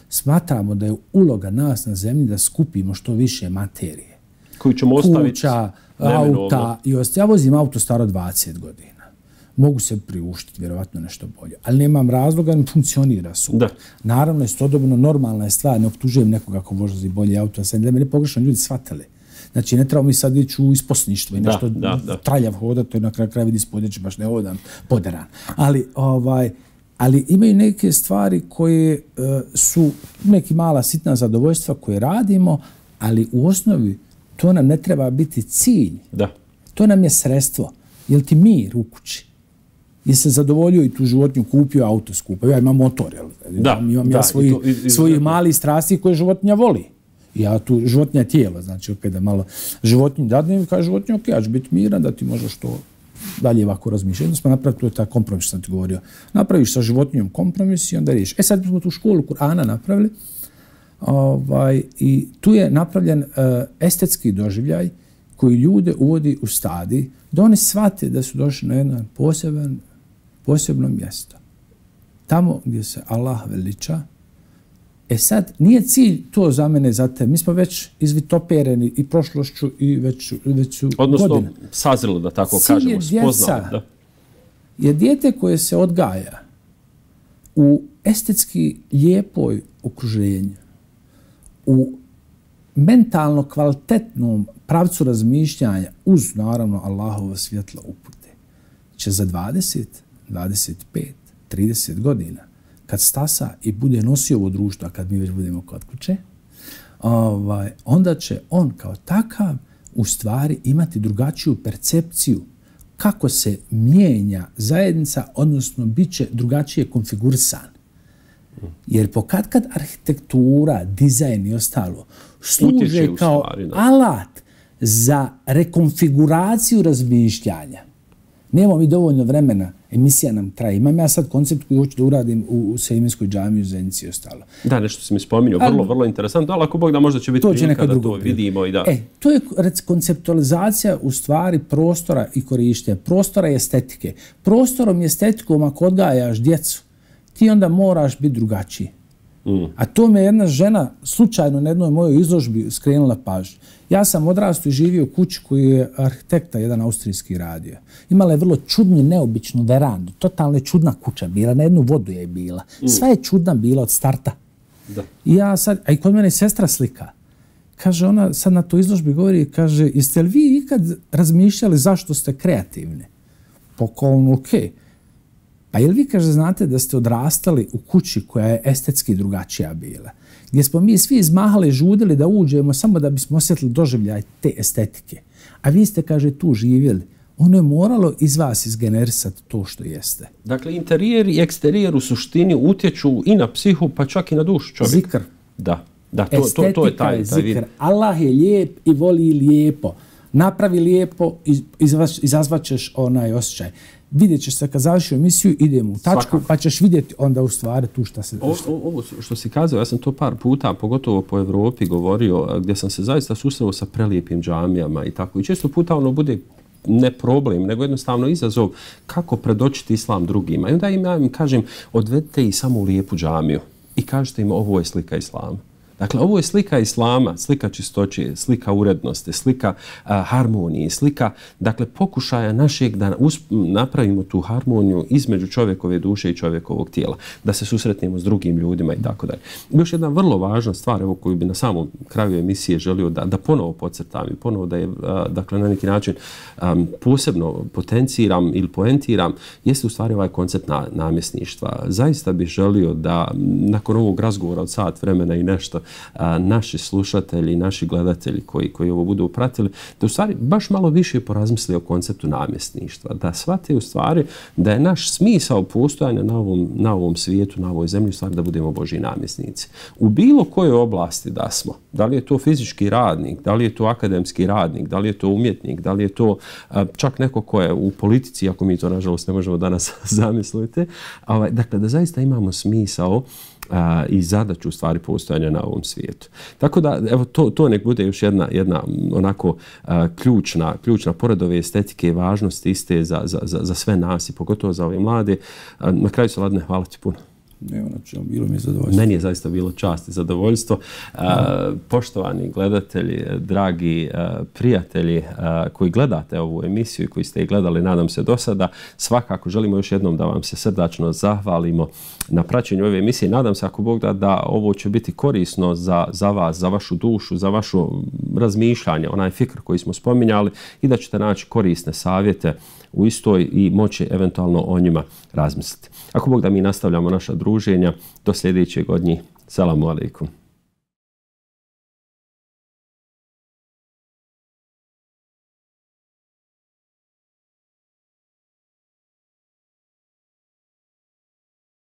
Smatramo da je uloga nas na zemlji da skupimo što više materije. Koju ćemo ostaviti kuća, auta i osta. Ja vozim auto staro dvadeset godina. mogu se priuštiti vjerovatno nešto bolje, ali nemam razloga, ne funkcionira super. Da. Naravno, istodobno normalna je stvar, ne optužujem nekoga ko vozi bolje auto, sad da me ne pogrešno ljudi shvatili. Znači, ne treba mi sad ići u isposništvo i nešto da, da, da. traljav hodati, to je na kraju kraju vidi spodjeći, baš ne hodam poderan. Ali, ovaj, ali imaju neke stvari koje uh, su neki mala sitna zadovoljstva koje radimo, ali u osnovi to nam ne treba biti cilj. Da. To nam je sredstvo. Jel ti mir u kući? Jel se zadovoljio i tu životinju, kupio auto skupo? Ja imam motor, jel? Da, imam da, ja svoji, i to, i, i, svoji mali strasti koje životinja voli. Ja tu životinja tijelo, znači opet da malo životinju dadnem i kaže životinja, ok, ja ću biti miran da ti možeš to dalje ovako razmišljati. Jedno smo napravili, to je taj kompromis što sam ti govorio. Napraviš sa životinjom kompromis i onda riješi. E sad smo tu školu Kur'ana napravili ovaj, i tu je napravljen uh, estetski doživljaj koji ljude uvodi u stadij da oni shvate da su došli na jedno poseban, posebno mjesto. Tamo gdje se Allah veliča. E sad, nije cilj to za mene, za te. Mi smo već izvitopereni i prošlošću i već, već su Odnosno, godine. sazrelo, da tako cilj kažemo, je djeca, spoznali. Da. Je dijete koje se odgaja u estetski lijepoj okruženju, u mentalno kvalitetnom pravcu razmišljanja uz, naravno, Allahovo svjetlo upute, će za dvadeset, dvadeset pet, trideset godina, kad stasa i bude nosio ovo društvo, a kad mi već budemo kod kuće, ovaj, onda će on kao takav u stvari imati drugačiju percepciju kako se mijenja zajednica, odnosno bit će drugačije konfigurisan. Jer pokad kad arhitektura, dizajn i ostalo služe kao stvari, alat za rekonfiguraciju razmišljanja. Nemamo mi dovoljno vremena, emisija nam traje. Imam ja sad koncept koji hoću da uradim u, u Sejmenskoj džamiji u Zenici i ostalo. Da, nešto si mi spominjao, vrlo, vrlo interesantno, ali ako Bog da možda će biti prilika da to vidimo. I da... E, to je konceptualizacija u stvari prostora i korištenja. Prostora i estetike. Prostorom i estetikom ako odgajaš djecu, ti onda moraš biti drugačiji. Mm. A to me jedna žena slučajno na jednoj mojoj izložbi skrenula pažnju. Ja sam odrastao i živio u kući koju je arhitekta jedan austrijski radio. Imala je vrlo čudnu, neobičnu verandu. Totalno je čudna kuća bila, na jednu vodu je bila. Mm. Sva je čudna bila od starta. Da. I ja sad, a i kod mene sestra slika. Kaže, ona sad na toj izložbi govori, kaže, jeste li vi ikad razmišljali zašto ste kreativni? Pokolno, okej. Okay. Pa jel vi, kaže, znate da ste odrastali u kući koja je estetski drugačija bila? Gdje smo mi svi izmahali, žudili da uđemo samo da bismo osjetili doživljaj te estetike. A vi ste, kaže, tu živjeli. Ono je moralo iz vas izgenerisati to što jeste. Dakle, interijer i eksterijer u suštini utječu i na psihu, pa čak i na dušu čovjeka. Zikr. Da, da to, to, to je taj, taj vid. Allah je lijep i voli lijepo. Napravi lijepo, izazvaćeš onaj osjećaj. Vidjet ćeš se kad završi emisiju, idemo u tačku, svakako. Pa ćeš vidjeti onda u stvari tu šta se... Ovo, ovo što si kazao, ja sam to par puta, pogotovo po Evropi, govorio, gdje sam se zaista susreo sa prelijepim džamijama i tako. I često puta ono bude ne problem, nego jednostavno izazov kako predočiti islam drugima. I onda im ja im kažem, odvedite i samo u lijepu džamiju i kažete im ovo je slika islama. Dakle, ovo je slika islama, slika čistoće, slika urednosti, slika uh, harmonije, slika, dakle, pokušaja našeg da napravimo tu harmoniju između čovjekove duše i čovjekovog tijela, da se susretnemo s drugim ljudima i tako dalje. Još jedna vrlo važna stvar, evo, koju bi na samom kraju emisije želio da, da ponovo podcrtam i ponovo da je, uh, dakle, na neki način um, posebno potenciram ili poentiram, jeste u stvari ovaj koncept na, namjesništva. Zaista bih želio da nakon ovog razgovora od sat vremena i nešto, A, naši slušatelji, naši gledatelji koji, koji ovo budu pratili, da u stvari baš malo više porazmisli o konceptu namjesništva. Da shvate u stvari da je naš smisao postojanja na ovom, na ovom svijetu, na ovoj zemlji, u stvari da budemo Božji namjesnici. U bilo kojoj oblasti da smo, da li je to fizički radnik, da li je to akademski radnik, da li je to umjetnik, da li je to a, čak neko ko je u politici, ako mi to nažalost ne možemo danas zamisliti, ovaj, dakle da zaista imamo smisao a, i zadaću u stvari postojanja na ovom svijetu. Tako da, evo, to, to nek bude još jedna, jedna onako a, ključna, ključna pored ove estetike i važnosti iste za, za, za, za sve nas i pogotovo za ove mlade. A, na kraju, Saladine, hvala ti puno. Nema na čemu, bilo mi je zadovoljstvo. Meni je zaista bilo čast i zadovoljstvo. Uh, poštovani gledatelji, dragi uh, prijatelji uh, koji gledate ovu emisiju i koji ste je gledali, nadam se, do sada, svakako želimo još jednom da vam se srdačno zahvalimo na praćenju ove emisije. Nadam se, ako Bog da, da ovo će biti korisno za, za vas, za vašu dušu, za vašu razmišljanje, onaj fikr koji smo spominjali i da ćete naći korisne savjete u istoj i moći eventualno o njima razmisliti. Ako Bog da, mi nastavljamo naša druženja do sljedećeg od njih. Selamu alaikum.